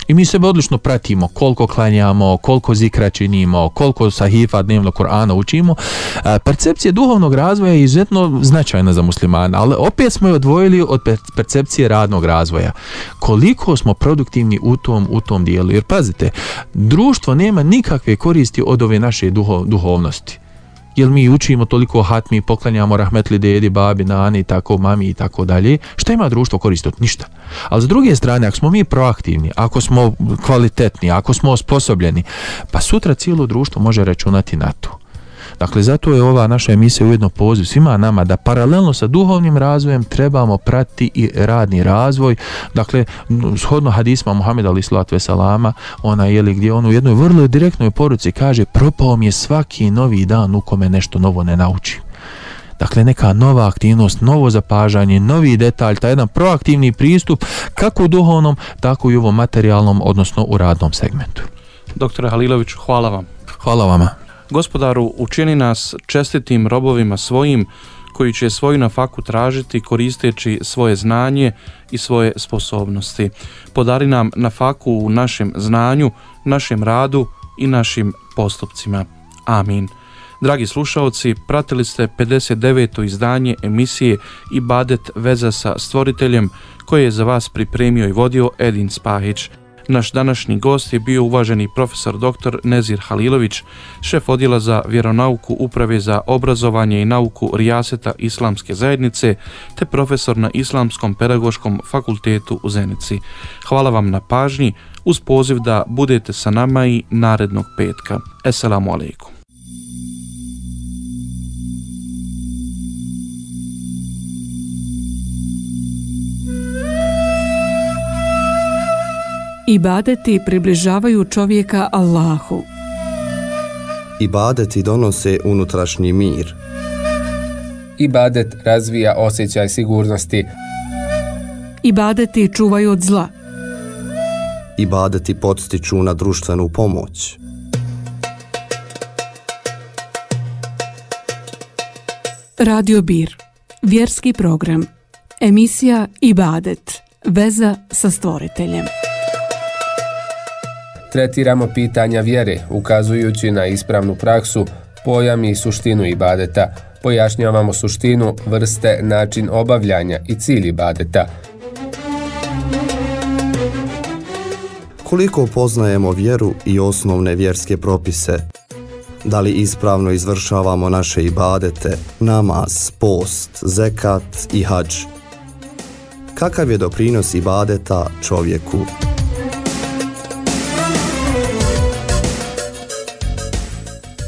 I mi sebe odlično pratimo, koliko klanjamo, koliko zikra činimo, koliko sahifa dnevno Kur'ana učimo. E, percepcija duhovnog razvoja je izuzetno značajna za muslimana, ali opet smo je odvojili od percepcije radnog razvoja. Koliko smo produktivni u tom, u tom dijelu. Jer pazite, društvo nema nikakve koristi od ove naše duho, duhovnosti. Jer mi učimo toliko hatmi, poklanjamo rahmetli dedi, babi, nani, tako, mami i tako dalje. Šta ima društvo koristi od ništa? Ali s druge strane, ako smo mi proaktivni, ako smo kvalitetni, ako smo osposobljeni, pa sutra cijelo društvo može računati na to. Dakle, zato je ova naša emisija ujedno poziv svima nama da paralelno sa duhovnim razvojem trebamo pratiti i radni razvoj. Dakle, shodno hadisma Muhameda alejhi selatu veselama, ona je li gdje on u jednoj vrlo direktnoj poruci kaže: propao mi je svaki novi dan u kome nešto novo ne naučim. Dakle, neka nova aktivnost, novo zapažanje, novi detalj, taj jedan proaktivni pristup kako u duhovnom, tako i u ovom materijalnom, odnosno u radnom segmentu. Doktore Haliloviću, hvala vam. Hvala vama. Gospodaru, učini nas čestitim robovima svojim, koji će svoju nafaku tražiti koristeći svoje znanje i svoje sposobnosti. Podari nam nafaku u našem znanju, našem radu i našim postupcima. Amin. Dragi slušaoci, pratili ste pedeset deveto izdanje emisije Ibadet veza sa stvoriteljem, koje je za vas pripremio i vodio Edin Spahić. Naš današnji gost je bio uvaženi profesor doktor Nezir Halilović, šef odjela za vjeronauku Uprave za obrazovanje i nauku Rijaseta Islamske zajednice, te profesor na Islamskom pedagoškom fakultetu u Zenici. Hvala vam na pažnji, uz poziv da budete sa nama i narednog petka. Esselamu alaikum. Ibadeti približavaju čovjeka Allahu. Ibadeti donose unutrašnji mir. Ibadet razvija osjećaj sigurnosti. Ibadeti čuvaju od zla. Ibadeti podstiču na društvenu pomoć. Radio Bir, vjerski program. Emisija Ibadet, veza sa stvoriteljem. Tretiramo pitanja vjere, ukazujući na ispravnu praksu, pojam i suštinu ibadeta. Pojašnjavamo suštinu, vrste, način obavljanja i cilj ibadeta. Koliko poznajemo vjeru i osnovne vjerske propise? Da li ispravno izvršavamo naše ibadete, namaz, post, zekat i hadž? Kakav je doprinos ibadeta čovjeku?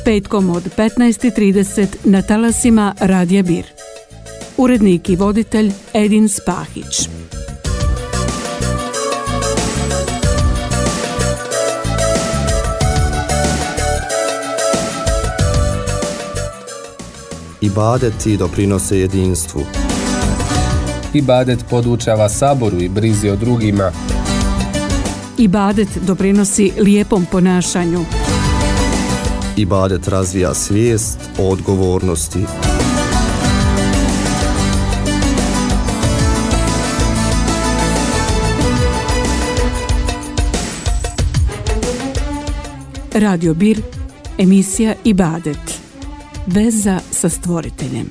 Petkom od petnaest i trideset na talasima Radija Bir. Urednik i voditelj Edin Spahić. Ibadeti doprinose jedinstvu. Ibadet podučava saboru i brizi o drugima. Ibadet doprinosi lijepom ponašanju. Ibadet razvija svijest o odgovornosti. Radio Bir, emisija Ibadet, veza sa stvoriteljem.